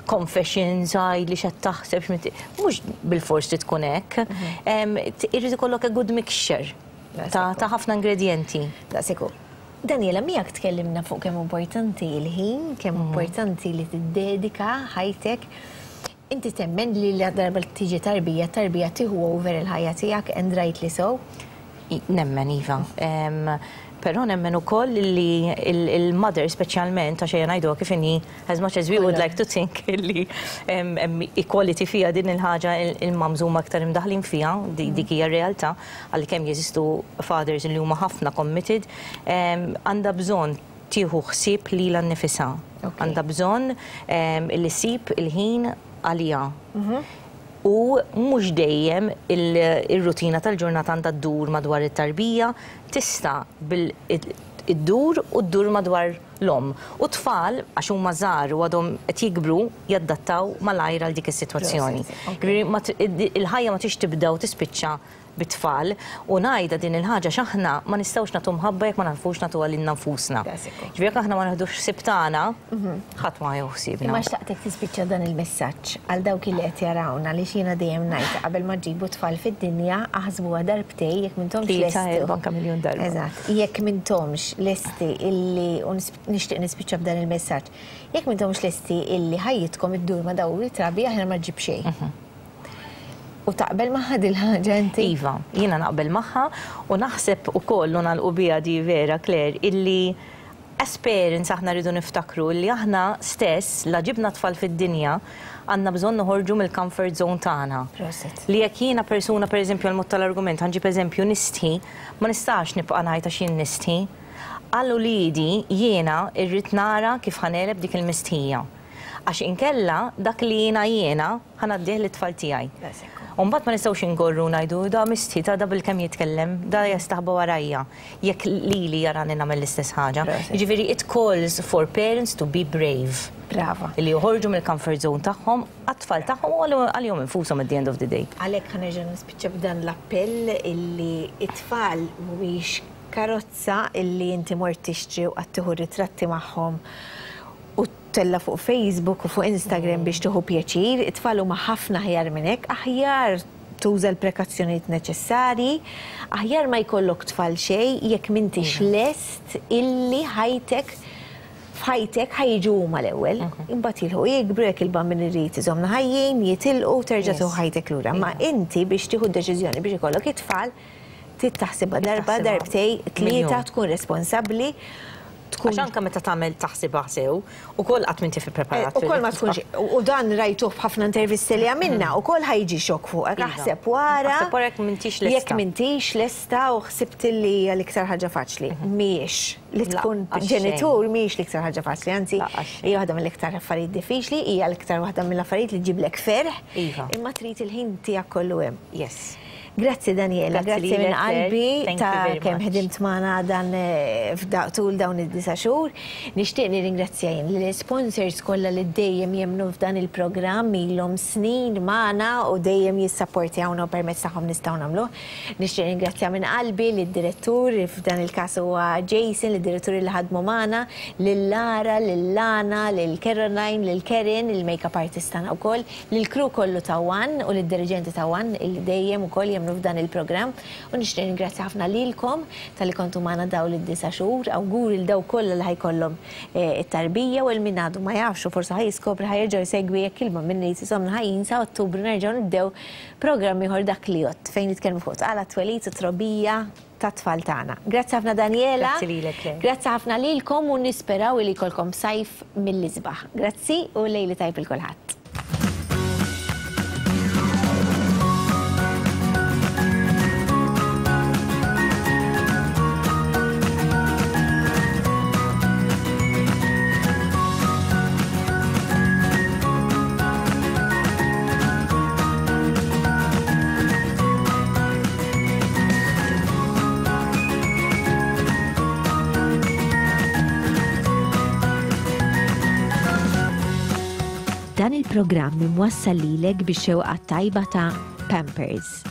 confessions, għid li x'qed taħseb, x'minti- mhux bil-forsi tkun hekk. Em, t- Irid ikollok a good mixture ta' ta' ħafna ingredienti. Daqshekk hu. Daniela, miegħek tkellimna fuq kemm importanti il-ħin, kemm importanti li tiddedika ħajtek. Inti temmen li la darba tiġi tarbija, tarbija tieħu over il-ħajja tiegħek, and rightly so? I- Nemmen, iva. Em, Però nemmen ukoll li il-mother speċjalment, għax ejja ngħidu kif inhi, as much as we would like to think li em, em, equality fija din il-ħaġa, il-mums huma aktar imdaħlin fija, di- dik hija realtà, għalkemm jeżistu fathers li huma ħafna committed, em, għandha bżonn tieħu ħsieb lilha nnifisha. Għandha bżonn em, li ssib il-ħin għaliha. U mhux dejjem il- il-rutina tal-ġurnata għandha ddur madwar it-tarbija, tista' bil iddur u ddur madwar l-om. U tfal, għax huma żgħar u għadhom qed jikbru, jaddattaw malajr għal dik is-sitwazzjoni. Ġifieri ma t- il-ħajja ma tix tibda u tispiċċa bit-tfal u ngħidha din il-ħaġa, x'aħna ma nistgħux nagħtu mħabba jekk ma nafux nagħtuha lilna nfusna. Ġifieri jekk aħna ma naħdux ħsieb tagħna, ħadd ma jieħu ħsiebna. Imma xtaqtek tispiċċa dan il-messaġġ għal dawk li qed jarawna, li jiena dejjem ngħid, qabel ma ġibu tfal fid-dinja aħsbuha darbtej jekk m'intomx Tlieta, lesti. Erba', anke miljun darba. Eżatt, jekk m'intomx lesti illi, u nixtieq nispiċċa b'dan il-messaġġ, jekk m'intomx lesti illi ħajjitkom iddur ma' dawn it-trabi, aħna ma ġib xejn. U taqbel magħha dil-ħaġa inti? Iva, jiena naqbel magħha u naħseb ukoll, u nagħlqu biha di vera, Claire, illi as parents aħna rridu niftakru illi aħna stess la ġibna tfal fid-dinja għandna bżonn noħorġu mill-comfort zone tagħna. Prosit. Li jekk jiena persuna, pereżempju, għal mod tal-argument, ħa nġib eżempju, nistħi, ma nistax nibqa' ngħid għax jien nistħi. Għal uliedi jiena irrid nara kif ħa negħleb dik il-mistħija. Għax inkella dak li jiena jiena ħa ngħaddih lit-tfal tiegħi. Umbagħad ma nistgħux ingorru ngħidu da mistħi, ta' da bil-kemm jitkellem, da jastaħba warajja. Jekk lili jarani nagħmel l-istess ħaġa. Jiġifieri it calls for parents to be brave. Brava. Li joħorġu mill-comfort zone tagħhom għat-tfal tagħhom u għalihom infushom at the end of the day. Għalhekk ħa nerġa' nispiċċa b'dan l-appell illi it-tfal mhuwiex karozza illi inti mort tixtri u qed tieħu ritratti magħhom u tella fuq Facebook u fuq Instagram biex tieħu pjaċir. It-tfal huma ħafna aħjar minn hekk, aħjar tuża l-prekazzjonijiet neċessarji, aħjar ma jkollok tfal xejn jekk m'intix lest illi ħajtek f'ħajtek ħa jiġu huma l-ewwel, imbagħad jilħu jikbru, jekk il-Bambin irid iżommna ħajjin, jitilqu, terġa' tieħu ħajtek lura. Ma inti biex tieħu deċiżjoni biex ikollok it-tfal, trid taħsibha darba, darbtej, tlieta, tkun responsabbli. Għax anke meta tagħmel taħsibha sew, ukoll qatt m'inti fi preparat. U kol ma tkunx, u dan rajtuh f'ħafna intervisti li għamilna, u kol ħa jiġi xokk fuqek, aħseb wara. Aħseb wara jekk m'intix lesta. Jekk m'intix lesta u ħsibt li hija l-iktar ħaġa faċli. Mhijiex li tkun ġenitur, mhijiex l-iktar ħaġa faċli, anzi hija waħda mill-iktar affarijiet diffiċli, hija l-iktar waħda mill-affarijiet li ġiblek ferħ. Imma trid il-ħin tiegħek kollu hemm. Yes. Grazzi Daniela, grazzi minn qalbi ta' kemm ħedimt magħna dan tul dawn id-disa' xhur. Nixtieq nirringrazzja jien l-sponsors kollha li dejjem jemmnu f'dan il-programm, ilhom snin magħna u dejjem jissapportjawna u permezz tagħhom nistgħu nagħmluh. Nixtieq nirringrazzja minn qalbi lid-direttur, f'dan il-każ huwa Jason, lid-direttur li ħadmu magħna, lil Lara, lil Lana, lil Caroline, lil Karen, il-makeup artist tagħna wkoll, lil crew kollu ta' One u lid-dirigenti ta' One li dejjem ukoll jemmnu nkunu f'dan il-programm u nixtieq ringrazzja ħafna lilkom talli kontu magħna dawn id-disa' xhur, awguri lil dawk kollha li ħa jkollhom eh, it-tarbija u lil min għadu ma jafx u forsi ħa jiskopri, ħa jerġa' jsegwi jekk ilma minn insomma ħajjin sa Ottubru nerġgħu nibdew programm ieħor Dak li Jgħodd fejn nitkellmu fuq tqala, twelid u trobbija tat-tfal tagħna. Grazzi ħafna, Daniela. Grazzi lilek, Claire. Grazzi ħafna lilkom u nisperaw li jkollkom sajf mill-isbaħ. Grazzi u lejl it-tajjeb lil kulħadd. Dan il-programm imwassal lilek bix-xewqa tajba ta' Pampers,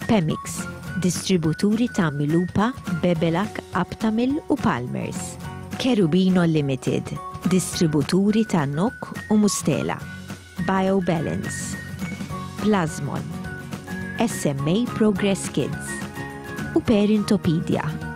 Pemix, distributuri ta' Milupa, Bebelac, Aptamil u Palmers. Cherubino Limited, distributuri ta' Nok u Mustela. BioBalance, Plasmon, S M A Progress Kids u Parentopedia.